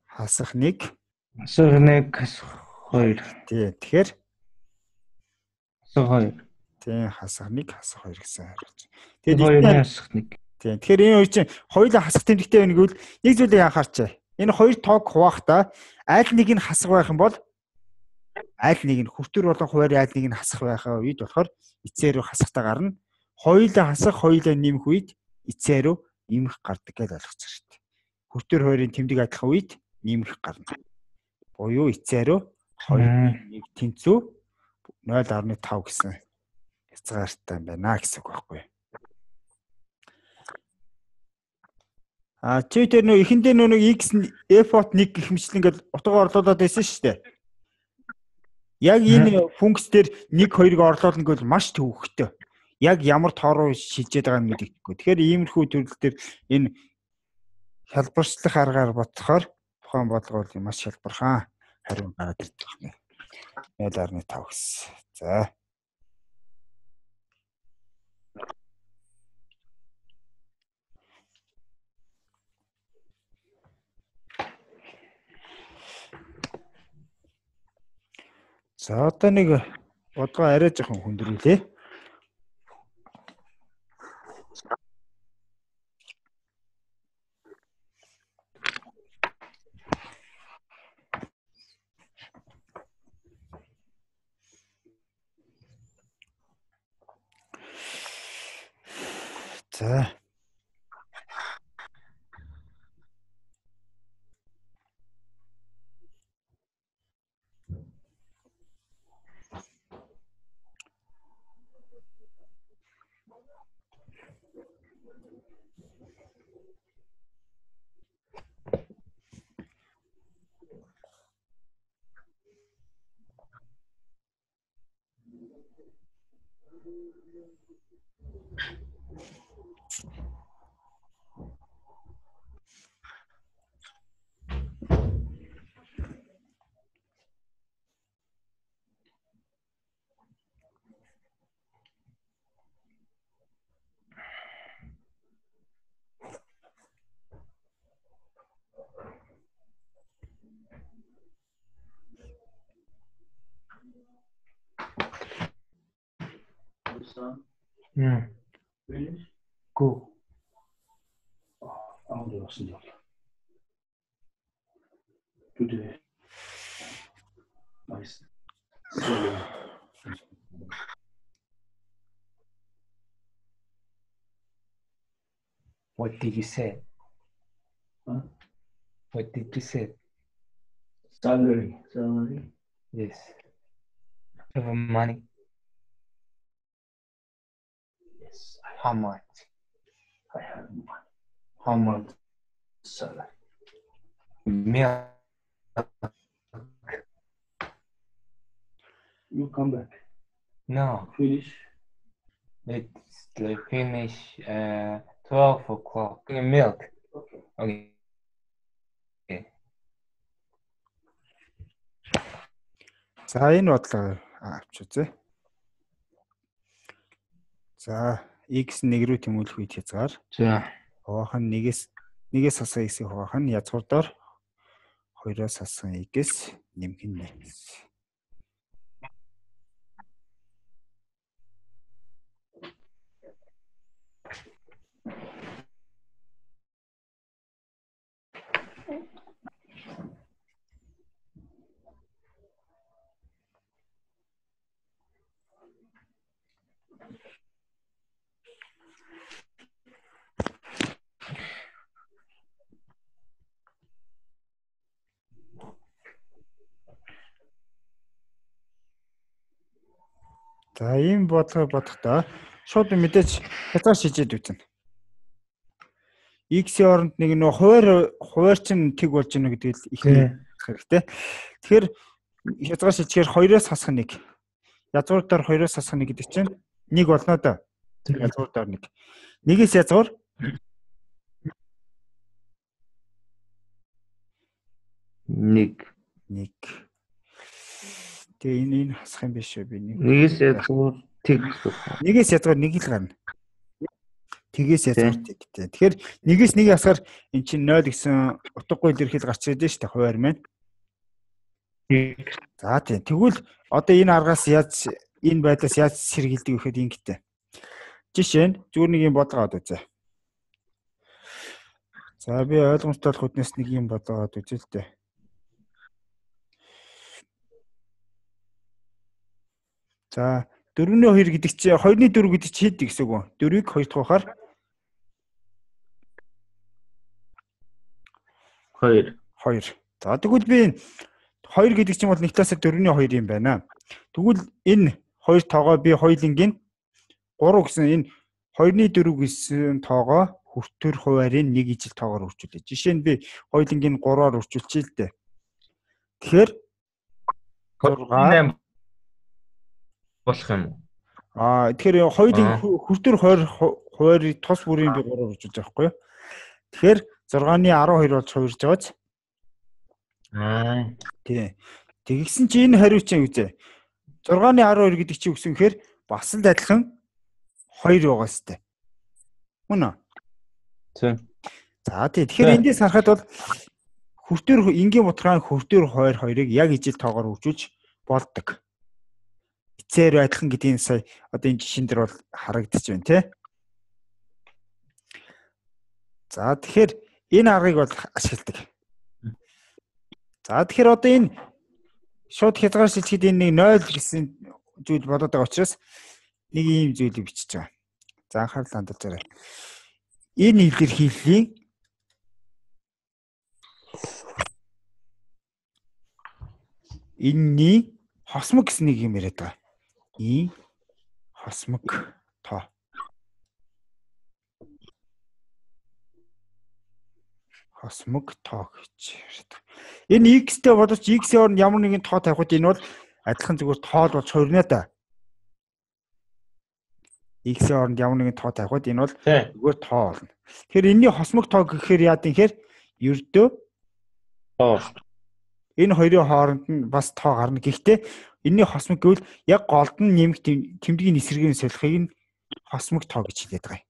хасах нэг хасах нэг хасах хоёр. Тий. Тэгэхээр хасах хоёр. Тий, хасах нэг хасах хоёр гэсэн хариулт. Тэгээд хоёрын хасах нэг. Тий. Тэгэхээр энэ хоёр чинь хоёулаа хасах тэмдэгтэй байна гэвэл нэг зүйлийг анхаарчаа. Энэ хоёр тоог хуваахдаа аль нэг нь хасах байх юм бол аль нэг нь хүртвэр болон хуваар аль нэг нь хасах байхаа үед болохоор эцээр рүү хасахтаа гарна. Хоёулаа хасах, хоёулаа нэмэх үед эцээр рүү нэмэх гардаг гэж ойлгоцсон шүү дээ. Хүртвэр хоёрын тэмдэг адилхан үед нэмэх гарна. Буюу эцээр рүү хоёр нэг тэнцүү нойл гаруй тав гэсэн хязгаартай байна гэсэн үг байхгүй юу? А чи тэр нөө эхэндээ нөө нэг x f-ot нэг гэх мэтлэн ингээд утга орлуулад байсан шүү дээ. Яг энэ функц дээр нэг хоёрыг орлуулна гэвэл маш төвөгтэй. Яг ямар тоо руу шилжээд байгаа нь мэдэгдэхгүй. Тэгэхээр иймэрхүү төрөл төр энэ хялбарчлах аргаар бодохоор тухайн бодлого бол маш хялбархан хариу гараад ирдэг байна. нойл гаруй тав гэсэн. За. За одоо нэг бодлого арай жоохон хүндрүүлээ. За. Yeah. Finish? Go. I'll do it. Today. Nice. What did you say? Huh? What did you say? Salary. Salary. Yes. Have money. Yes. I How much? I have money. How much? Salary. Milk. You come back. No, Finish. it's the finish uh twelve o'clock. Uh, Milk. Okay. Okay. За энэ бодлого авч үзье. За x нэг рүү тэмүүлэх үед хязгаар. За. Хуваах нь нэгээс нэгээс хасах x-ийг хуваах нь язгуурдаар хоёроос хасах x нэмэх нь нэг. За ийм бодлого бодохдоо шууд мэдээж хязгаар шижээд үзнэ. X-ийн оронд нэг нөө хуваар хуваар чинь тэг болж гэнэ гэдэг л их хэрэгтэй. Тэгэхээр хязгаар шижгээр хоёроос хасах нэг. Язгуурдаар хоёроос хасах нэг гэдэг чинь нэг болно да. Язгуурдаар нэг. Нэгээс язгуур нэг нэг. Тэгээ энэ энэ хасах юм биш үү би нэг. Нэгээс язгуур тэг. Нэгээс язгуур нэг л гарна. Тэгээс язгуур тэг гэдэг. Тэгэхээр нэгээс нэг хасахаар эн чинь ноль гэсэн утгагүй илэрхийл гарч ирээд шүү дээ хуваар маань. За тийм. Тэгвэл одоо энэ аргаас яаж энэ байдлаас яаж сэргийлдэг гэхэд ингэтэй. Жишээ нь зүгээр нэг юм бодлогоод үзье. За би ойлгомжтой болох үднэс нэг юм бодлогоод үзье л дээ. За дөрвөн хоёр гэдэг чинь хоёрны дөрөв гэдэг чинь хэд гэсэн үг вэ? дөрвийг хоёр дахь ухаар хоёр. хоёр. За тэгвэл би хоёр гэдэг чинь бол нэг талаас дөрвний хоёр юм байна. Тэгвэл энэ хоёр тоогоо би хоёулынгийн гурав гэсэн энэ хоёрны дөрөв гэсэн тоогоо хүртэр хуваарийн нэг ижил тоогоор үржүүлээ. Жишээ нь би хоёулынгийн гурваар үржүүлчихээ л дээ. Тэгэхээр зургаан болох юм уу? Аа тэгэхээр хоёулын хүртэр хуваарийг тус бүрийн би гурваар үржүүлж байгаа байхгүй юу? Тэгэхээр зургааны арван хоёр болж хувирж байгааз. Аа тий. Тэгсэн чи энэ хариу чинь үзье. зургааны арван хоёр гэдэг чи үгсэн гэхээр бас л адилхан хоёр байгаа сте. Мөн үү? тийм. За тий. Тэгэхээр эндээс харахад бол хүртэр энгийн бутгаан хүртэр хоёр хоёрыг яг ижил тоогоор үржүүлж болдог. Эцээр адилхан гэдгийг сая одоо энэ жишээн дээр бол харагдаж байна тий. За тэгэхээр энэ аргыг бол ашигладаг. За тэгэхээр одоо энэ шууд хязгаар шилжихэд энэ нэг ноль гэсэн зүйл болоод байгаа учраас нэг ийм зүйлийг бичиж байгаа. За анхаарал хандуулаарай. Энэ илэрхийллийн энэний хосмог гэсэн нэг юм яриад байгаа. И хосмог тоо. Хосмог тоо гэж яриад байгаа. Энэ x-тэй боловч x-ийн оронд ямар нэгэн тоо тавихад энэ бол адилхан зүгээр тоол болж хуурна да. X-ийн оронд ямар нэгэн тоо тавихад энэ бол зүгээр тоо болно. Тэгэхээр энэний хосмог тоо гэхээр яа гэхээр ердөө тоо. Энэ хоёрын хооронд нь бас тоо гарна. Гэхдээ энэний хосмог гэвэл яг голд нь нэмэх тэмдгийн эсрэгийн солихыг нь хосмог тоо гэж хэлээд байгаа юм.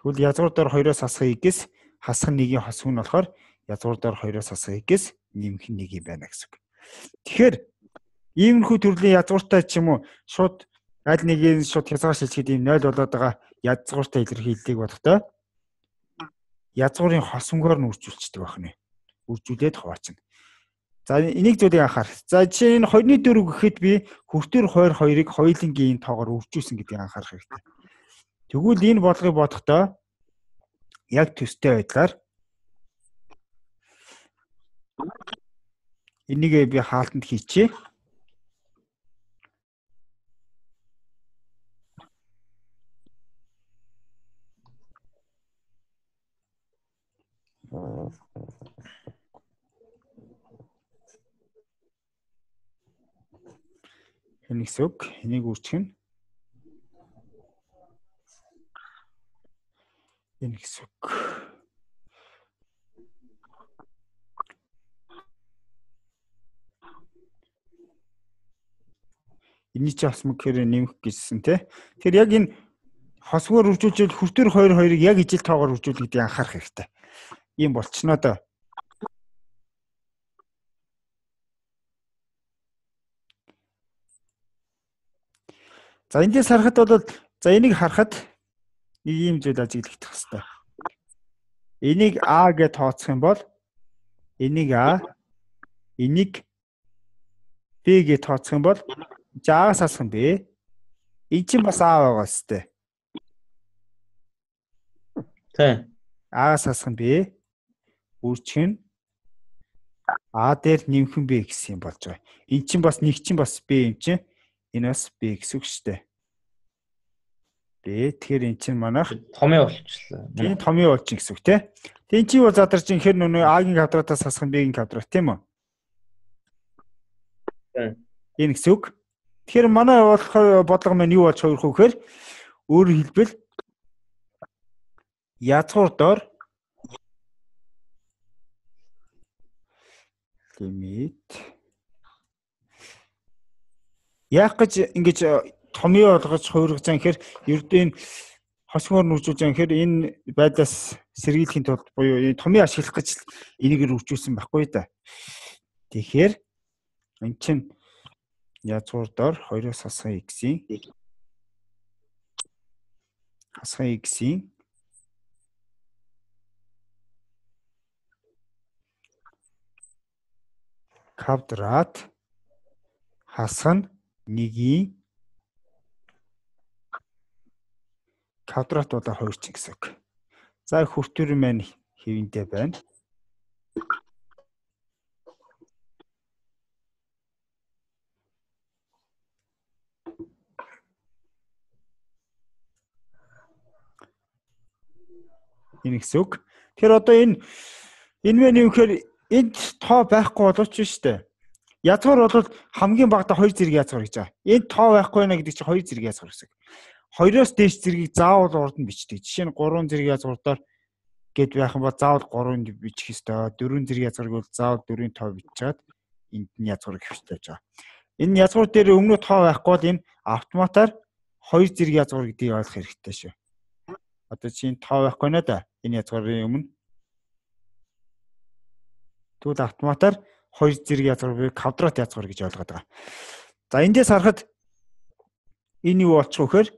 Тэгвэл язгуурдаар хоёроос хасах x хасах нэгийн хосмог нь болохоор язгуурдаар хоёроос хасах x нэмэх нэг юм байна гэсэн үг. Тэгэхээр иймэрхүү төрлийн язгууртай ч юм уу шууд аль нэгийг шууд хязгаар шилжихэд ийм ноль болоод байгаа язгууртай илэрхийллийг бодохдоо язгуурын хосмогоор нь үржүүлчихдэг байна. Үржүүлээд хуваачна. За энийг зүйлийг анхаар. За жишээ нь хоёрны дөрөв гэхэд би хүртэр хоёр хоёрыг хоёулынгийн тоогоор үржүүлсэн гэдгийг анхаарах хэрэгтэй. Тэгвэл энэ бодлогыг бодохдоо яг төстэй байдлаар энийг би хаалтанд хийчихье. Энэ гэсэн үг. Энийг үүсгэх нь энэ гэсэн үг. Эний чи бас мөхөр нэмэх гэсэн тий. Тэгэхээр яг энэ хосгоор үржүүлж хүртэр хоёр хоёрыг яг ижил тоогоор үржүүл гэдгийг анхаарах хэрэгтэй. Ийм болчихноо доо. За эндээс харахад бол за энийг харахад нэг юм зүйл ажиглагдах хэрэгтэй. Энийг А гэж тооцох юм бол энийг А, энийг Б гэж тооцох юм бол А-гаас асах нь Б. Энэ чинь бас А байгаа сте. Тэ. А-гаас асах нь Б. Үржих нь А дээр нэмэх нь Б гэсэн юм болж байгаа. Энэ чинь бас нэг чинь бас Б юм чинь. Энэ бас Б гэсэн үг шүү дээ. Б тэгэхээр эн чинь манайх Томьёо болчихлоо. энэ томьёо болчих гэсэн үг тий. Тэн чи бол задарч ин хэр нүг А-гийн квадратаас хасах нь Б-гийн квадрат тийм үү? Тийм. Энэ гэсэн үг. Тэгэхээр манай болохоор бодлого маань юу болж хувирах вэ гэхээр өөрөөр хэлбэл язгуур доор лимит яг гэж ингэж томьёо болгож хувиргаж байгаа гэхээр ердөө энэ хосгоор нүржүүлж байгаа гэхээр энэ байдлаас сэргийлэхийн тулд буюу энэ томьёо ашиглах гэж энийг үржүүлсэн байхгүй да. Тэгэхээр энэ чинь язгуур доор хоёроос хасах x-ийн хасах x-ийн квадрат хасах нь нэгийн квадрат болоо хоёр ч гэсэн үг. За хүртэр маань хэвэндээ байна. Энэ гэсэн үг. Тэгэхээр одоо энэ энэ мэн юм гэхээр энд тоо байхгүй болооч шүү дээ. Язгуур бол хамгийн багадаа хоёр зэрэг язгуур гэж байгаа. Энд тоо байхгүй байна гэдэг чинь хоёр зэрэг язгуур гэсэн. Хоёроос дээш зэргийг заавал урд нь бичдэг. Жишээ нь гурван зэрэг язгуурдаар гэд байх юм бол заавал гурван бичих ёстой. Дөрвөн зэрэг язгуурыг бол заавал дөрвийн тоо бичээд энд нь язгуурыг хэвштэй байж байгаа. Энэ язгуур дээр өмнө тоо байхгүй бол энэ автоматар хоёр зэрэг язгуур гэдгийг ойлгох хэрэгтэй шүү. Одоо чинь тоо байхгүй нэ да. Энэ язгуурын өмнө тэгвэл автоматар хоёр зэрэг язгуурыг квадрат язгуур гэж ойлгоод байгаа. За эндээс харахад энэ юу болчих вэ гэхээр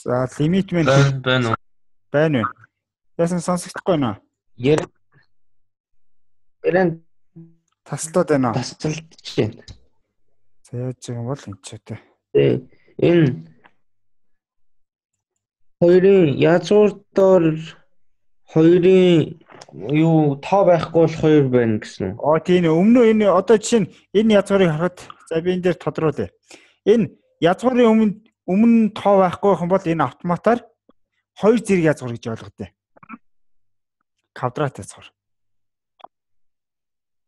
за лимит мэн байна уу? байна уу? Яасан сонсогдохгүй нөө? Яран яран Таслаад байна уу? тасалдж байна. За яаж байгаа юм бол энэ ч үү. Тэ энэ хоёрын язгуур доор хоёрын юу тоо байхгүй бол хоёр байна гэсэн үү? Оо тийм өмнө энэ одоо жишээ нь энэ язгуурыг харахад за би энэ дээр тодруулъя. Энэ язгуурын өмнө өмнө тоо байхгүй байх юм бол энэ автоматар хоёр зэрэг язгуур гэж ойлгодог. Квадрат язгуур.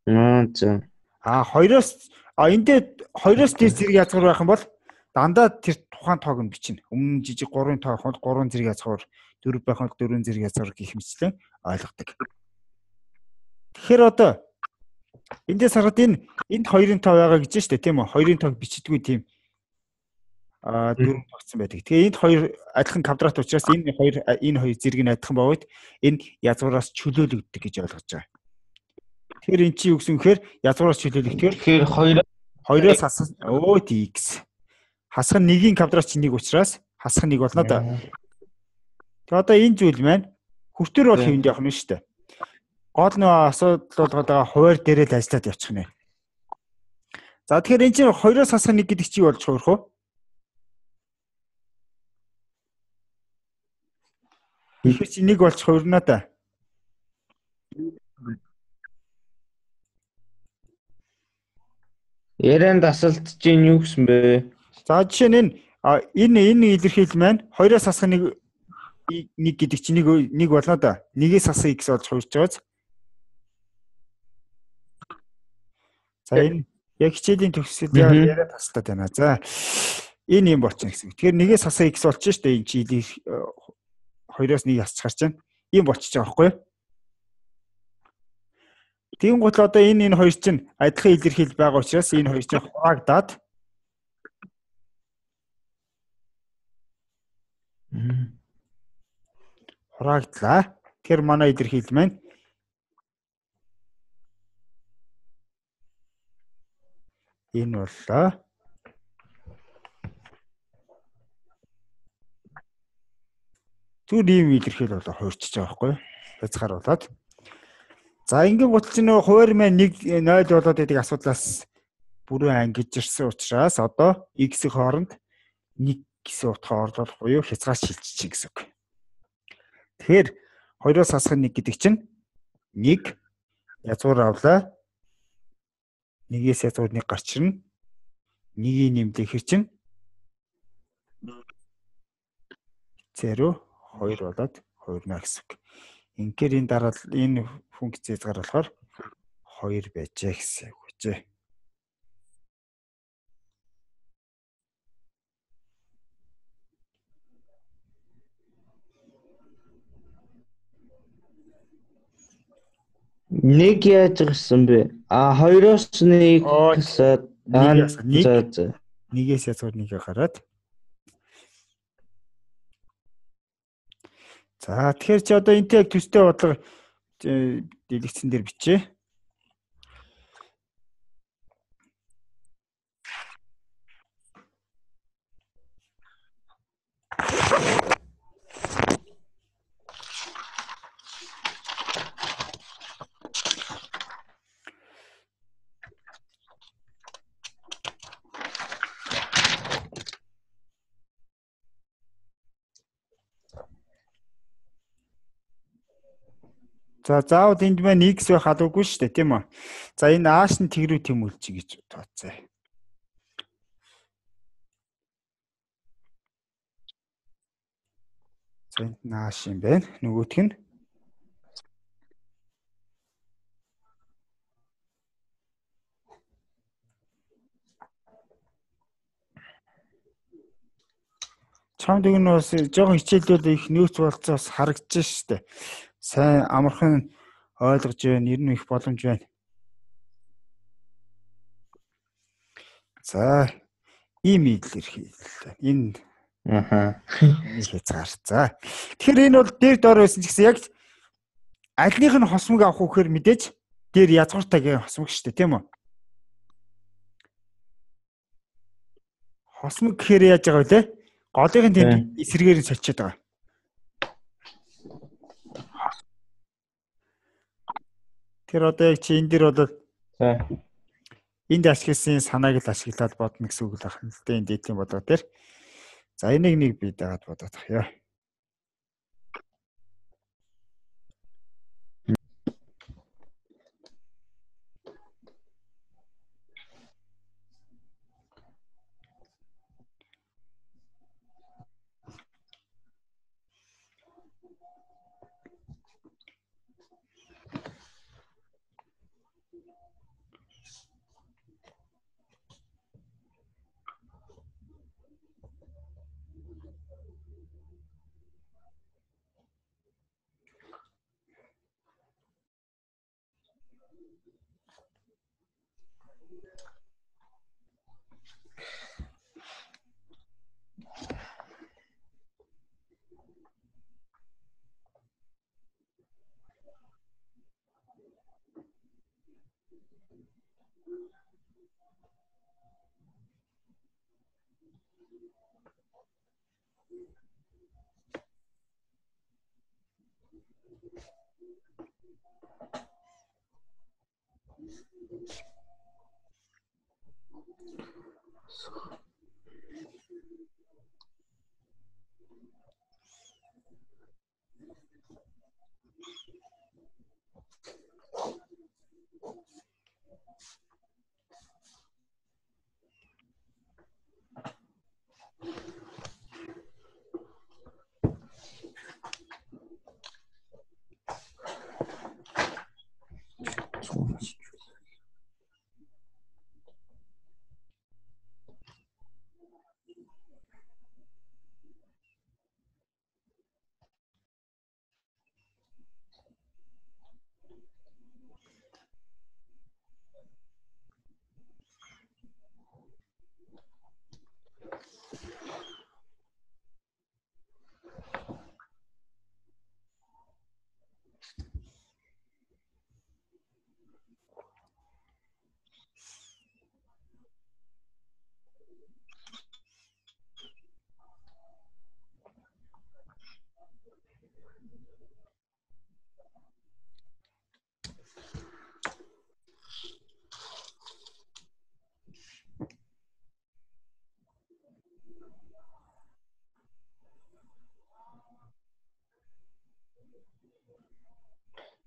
Аа за. А хоёроос а эндээ хоёроос дээш зэрэг язгуур байх юм бол дандаа тэр тухайн тоог нь бичнэ. Өмнө жижиг гурван тоо хол гурван зэрэг язгуур, дөрөв байх бол дөрвөн зэрэг язгуур гэх мэтлэн ойлгодог. Тэгэхээр одоо эндээс хараад энэ энд хоёрын тоо байгаа гэж штэ тийм үү? Хоёрын тоог бичдэггүй тийм а дөрөв тогтсон байдаг. Тэгээ энд хоёр адилхан квадрат учраас энэ хоёр энэ хоёр зэрэг нь адилхан бовод энэ язгуураас чөлөөлөгддөг гэж ойлгож байгаа. Тэгэхээр эн чинь юу гэсэн гэхээр язгуураас чөлөөлөгдөхөөр Тэгэхээр хоёр хоёроос хасах өө x хасах нэгийн квадрат чинь нэг учраас хасах нэг болно да. Тэгээ одоо энэ зүйл маань хүртэр бол хэвэнд явах нь шүү дээ. Гол нөө асуудал болгоод байгаа хуваар дээрээ л ажиллаад явчих нэ. За тэгэхээр эн чинь хоёроос хасах нэг гэдэг чи болж хувирах уу? Тэгэхээр чи нэг болж хувирна да. Яран дасалдж ийн юу гэсэн бэ? За жишээ нь энэ а, энэ энэ илэрхийлэл маань хоёроос хасах нэг нэг гэдэг чинь нэг нэг болно да. Нэгээс хасах x болж хувирж байгааз. За энэ яг хичээлийн төгсгөл яриад тастаад байна. За энэ юм болчихно гэсэн. Тэгэхээр нэгээс хасах x болчих шүү дээ. Энэ чи хоёроос нэг хасчих гарч байна. Ийм болчихж байгаа байхгүй юу? Тийм гол одоо энэ энэ хоёр чинь адилхан илэрхийлэл байгаа учраас энэ хоёр чинь хураагдаад хураагдлаа. Тэгэхээр манай илэрхийлэл маань энэ боллоо. Түр ийм илэрхийлэл болоо хуурчиж байгаа байхгүй юу? Хязгааруулаад. За ингийн гутал чинь нөгөө хуваар маань нэг нуль болоод байдаг асуудлаас бүрэн ангиж ирсэн учраас одоо x-ийн хооронд нэг гэсэн утгаар орлох буюу хязгаар шилжиж гэсэн үг. Тэгэхээр хоёроос хасах нэг гэдэг чинь нэг язгуур авлаа. Нэгээс язгуур нэг гарч ирнэ. Нэгийг нэмлэх хэр чинь зэро хоёр болоод хоёр нэ гэсэн үг. Инхээр энэ дараа энэ функц хязгаар болохоор хоёр байжээ гэсэн үг үжээ. Нэг яаж гисэн бэ? А хоёроос нэг гэсээд нэг нэгээс язгуур нэгэ гараад. За тэгэхээр чи одоо энтэй яг төстэй бодлого дэлгэцэн дээр бичээ. За заавал энд маань x байх албагүй шүү дээ, тийм үү? За энэ ааш нь тэгрүү тэмүүлж гэж тооцоо. За энд нааш юм байна. Нөгөөх нь чамд өгнө бас жоохон хичээлүүд их нөөц болцоос харагдаж шүү дээ. Сайн амархан ойлгож байна, ер нь их боломж байна. За ийм илэрхийлэл. Энэ аха хязгаар. За. Тэгэхээр энэ бол дээр доор байсан ч гэсэн яг альных нь хосмог авах үхээр мэдээж дээр язгууртайгийн хосмог шүү дээ, тийм үү? Хосмог гэхээр яаж байгаа вэ? Голын тэнд эсрэгээр нь сочиод байгаа. Тэр одоо яг чи энэ дэр бол энд ашигласан санааг л ашиглаад бодно гэсэн үг л байна л дээ, энэ дэдлийн бодлого дээр. За энийг нэг бий дагаад бодоод тахъя.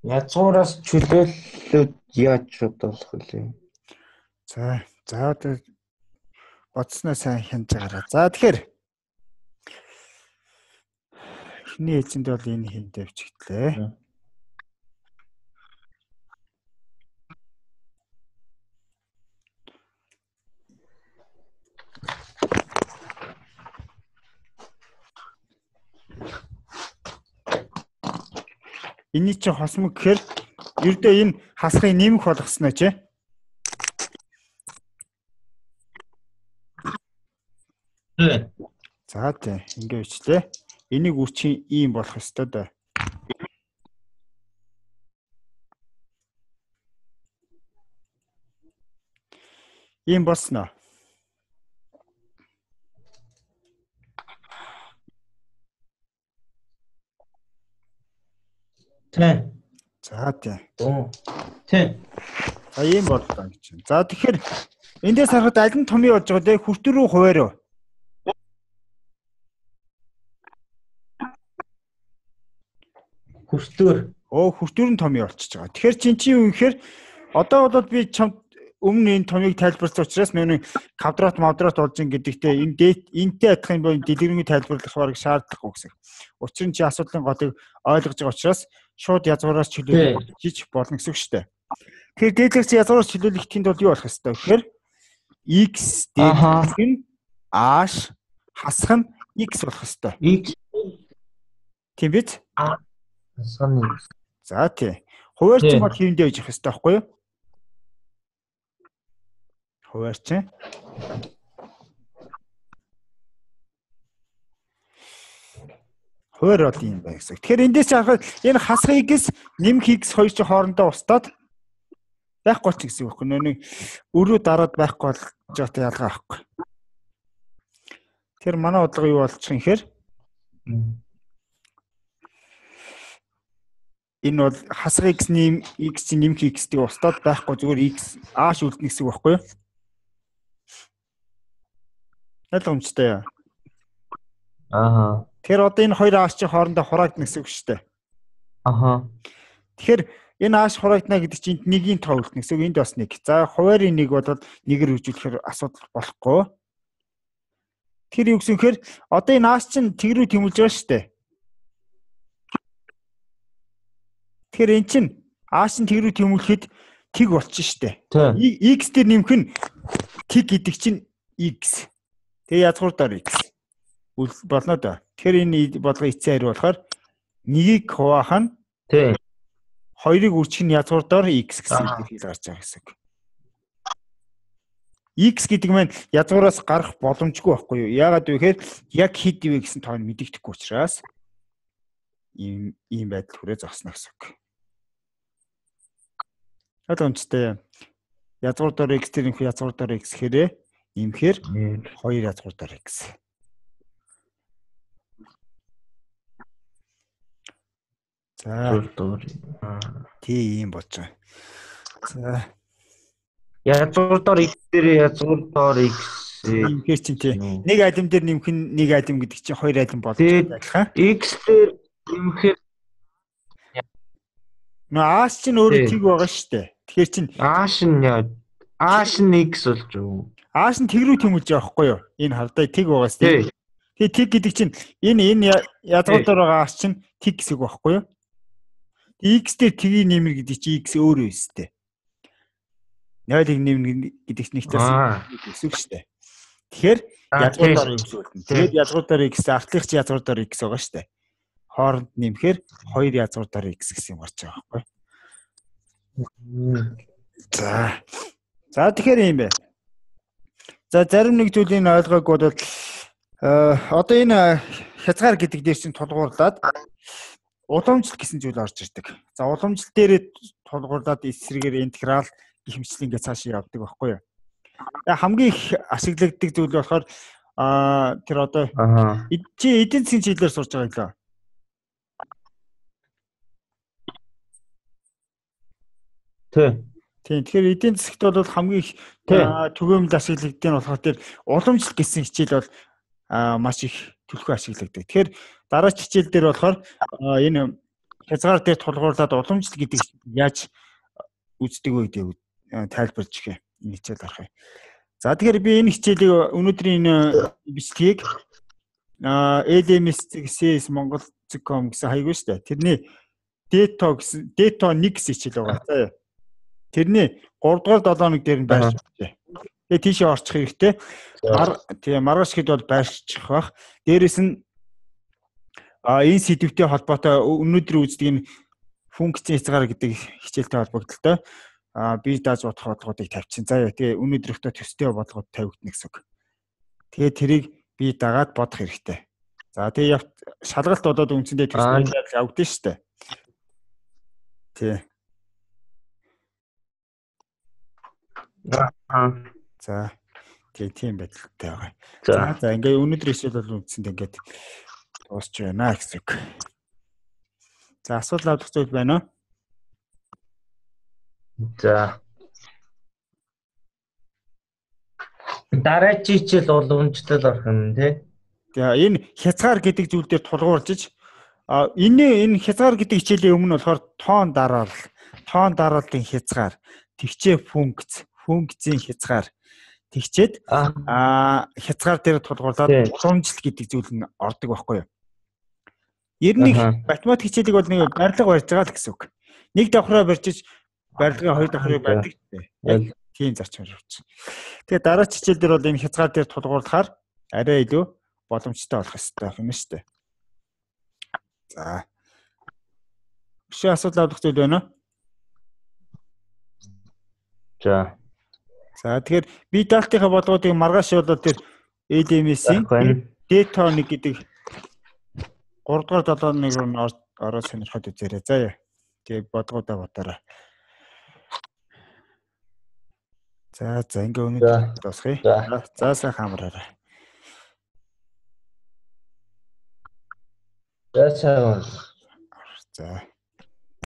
Язгуураас чөлөөллөд яаж бодох вэ? За, за одоо бодсноо сайн хянаж байгаарай. За тэгэхээр эхний ээлжинд бол энэ хин тавьчихлаа. Эний чи хосмог гэхээр ердөө энэ хасгыг нэмэх болгосноо чи. Тэ. За тий, ингэ бичлээ. Энийг үрчийн ийм болох ёстой доо. Ийм болсноо. Тэ. За тий. Оо. Тэ. За ийм боллоо гэж байна. За тэгэхээр эндээс харахад аль нь томьёо болж байгаа те хүртэн рүү хуваарь. Хүртээр. Оо хүртээр нь томьёо болчихж байгаа. Тэгэхээр чин чи юу гэхээр одоо бол би чамд өмнө энэ томьёог тайлбарласан учраас миний квадрат мавдрат болж ин гэдэгтээ энэ дэт энтэй адилхан боо дэлгэрэнгүй тайлбарлах бараг шаардлагагүй гэсэн. Учир нь чи асуудлын годыг ойлгож байгаа учраас шууд язгуураас чөлөөлөх хийж болно гэсэн үг шүү дээ. Тэгэхээр дээдлэгч язгуураас чөлөөлөх тэнд бол юу болох ёстой гэхээр x дээдлэгч нь h хасах нь x болох ёстой. X тийм биз? хасах нь x. За тий. Хуваарч бол хийвэндээ байж их ёстой байхгүй юу? Хуваарч. Хуваар бол юм байна гэсэн. Тэгэхээр эндээс харахад энэ хасах x нэмэх x хоёр ч хоорондоо устдаад байхгүй ч гэсэн үг. Нэг өрөө дараад байхгүй бол жаатай ялгаа авахгүй. Тэр манай бодлого юу болчих юм хэр? Энэ бол хасах x нэм x нэмэх x-ийг устдаад байхгүй зүгээр x h үлдэнэ гэсэн үг байхгүй юу? Ойлгомжтой яа. Ааха. Тэгэхээр одоо энэ хоёр h чи хоорондоо хураагдана гэсэн үг шүү дээ. Аха. Тэгэхээр энэ h хураагдана гэдэг чинь нэгийн тоо үлдэнэ гэсэн үг. Энд бас нэг. За хуваарийн нэг бол нэгээр хөгжүүлэхээр асуудал болохгүй. Тэр юу гэсэн хэрэг одоо энэ h чинь тэг рүү тэмүүлж байгаа шүү дээ. Тэгэхээр эн чинь h нь тэг рүү тэмүүлэхэд тэг болчих шүү дээ. X дээр нэмэх нь тэг гэдэг чинь x. Тэгээ язгуурдаар x болно да. Тэгэхээр энэ бодлого эцсийн хариу болохоор нэгийг хуваах нь тий. Хоёрыг үржих нь язгуурдаар x гэсэн хэлээр гарч байгаа гэсэн. X гэдэг маань язгуураас гарах боломжгүй байхгүй юу? Яагаад вэ гэхээр яг хэд вэ гэсэн тоог мэдэгдэхгүй учраас ийм ийм байдал хүрээ зогсно гэсэн үг. Ойлгомжтой. Язгуурдаар x тэр нөх язгуурдаар x хэрэг имхээр хоёр язгуурдаар x. За тийм болж байгаа. За язгуурдаар x дээр язгуурдаар x имхээр чинь тий. Нэг алим дээр нэмэх нь нэг алим гэдэг чинь хоёр алим болж байгаа. X дээр нэмэхээр нөө h чинь өөрөө тэг байгаа шүү дээ. Тэгэхээр чинь h нь яа h нь x болж юу? h нь тэг рүү тэмүүлж байгаа байхгүй юу? Энэ хардаа тэг байгаас тий. Тэгээ тэг гэдэг чинь энэ энэ язгуурдаар байгаа h чинь тэг гэсэн үг байхгүй юу? X дээр тгийг нэмэр гэдэг чинь x өөрөө өстэй. ноёлыг нэмнэ гэдэг чинь нэгтээс гэсэн үг шүү дээ. Тэгэхээр язгуурдаар x үлдэнэ. Тэгээд язгуурдаар x артлах чи язгуурдаар x байгаа шүү дээ. Хооронд нэмэхээр хоёр язгуурдаар x гэсэн юм гарч байгаа байхгүй. За. За тэгэхээр юм бэ. За зарим нэг зүйлийг ойлгоогүй бол одоо энэ хязгаар гэдэг дээр чинь тулгуурлаад уламжлалт гэсэн зүйл орж ирдэг. За уламжлалт дээр тулгуурлаад эсрэгээр интеграл гэх мэтлэн ингээд цаашаа явдаг байхгүй юу. Хамгийн их ашиглагддаг зүйл болохоор тэр одоо чи эдийн засгийн чиглэлээр сурж байгаа юм лээ. Тэ. Тийм. Тэгэхээр эдийн засгт бол хамгийн их түгээмэл ашиглагддаг нь болохоор тэр уламжлалт гэсэн хичээл бол маш их төлхөө ашиглагддаг. Тэгэхээр дараач хичээл дээр болохоор энэ хязгаар дээр тулгуурлаад уламжлал гэдэг яаж үздэг вэ гэдэг тайлбарж ихэ энэ хичээл гарах юм. За тэгэхээр би энэ хичээлийг өнөөдрийн бичлэгийг эл эм эс зэг Монгол зэг ком гэсэн хаяг шүү дээ. Тэрний Deto гэсэн Deto нэг гэсэн хичээл байгаа. За тэрний гурав дугаар долоо хоног дээр нь байрч байна. Тэгээ тийшээ орчих хэрэгтэй. Тэгээ маргааш хэд бол байрчих бах. Дээрээс нь а энэ сэдвтэй холбоотой өнөөдөр үздэг энэ функцийн хязгаар гэдэг хичээлтэй холбогдлоо а би дааж бодох бодлогуудыг тавьчихсан. За тэгээ өнөөдрийнхөө төстэй бодлогод тавигдана гэсэн үг. Тэгээ тэрийг би дагаад бодох хэрэгтэй. За тэгээ шалгалт болоод үндсэндээ төстэй явагдсан шүү дээ. Тий. Аа. За тэгээ тийм байдалтай байгаа. За за ингээ өнөөдөр хичээл бол үндсэндээ ингээд дуусч байна гэсэн үг. За асуулт авах зүйл байна уу? За. Дараагийн хичээл уламжлал орох юм тий. Тэгээ энэ хязгаар гэдэг зүйл дээр тулгуурлаж а энэ энэ хязгаар гэдэг хичээлийн өмнө болохоор тоон дараал, тоон дарааллын хязгаар, тэгчээ функц, функцийн хязгаар тэгчээд а хязгаар дээр тулгуурлаад уламжлал гэдэг зүйл нь ордог байхгүй юу? Ер нь математик хичээлийг бол нэг барилга барьж байгаа л гэсэн үг. Нэг давхраа барьж барилгын хоёр давхрыг барьдаг гэдэг. Тийм зарчмаар явуулсан. Тэгээ дараа хичээл дээр бол энэ хязгаар дээр тулгуурлахаар арай илүү боломжтой болох хэрэгтэй юм шүү дээ. За. Өшөө асуудал авах зүйл байна уу? За. За тэгэхээр би даалтынхаа бодлогуудыг маргааш болоод тэр эл эм эс-ийн Deto нэг гэдэг гурав дугаар долоо хоног руу ороод сонирхоод үзээрэй. За. Тэгээ бодлогуудаа бодоорой. За за ингээ өнөөдөр дуусгая. За сайхан амраарай. За сайхан. За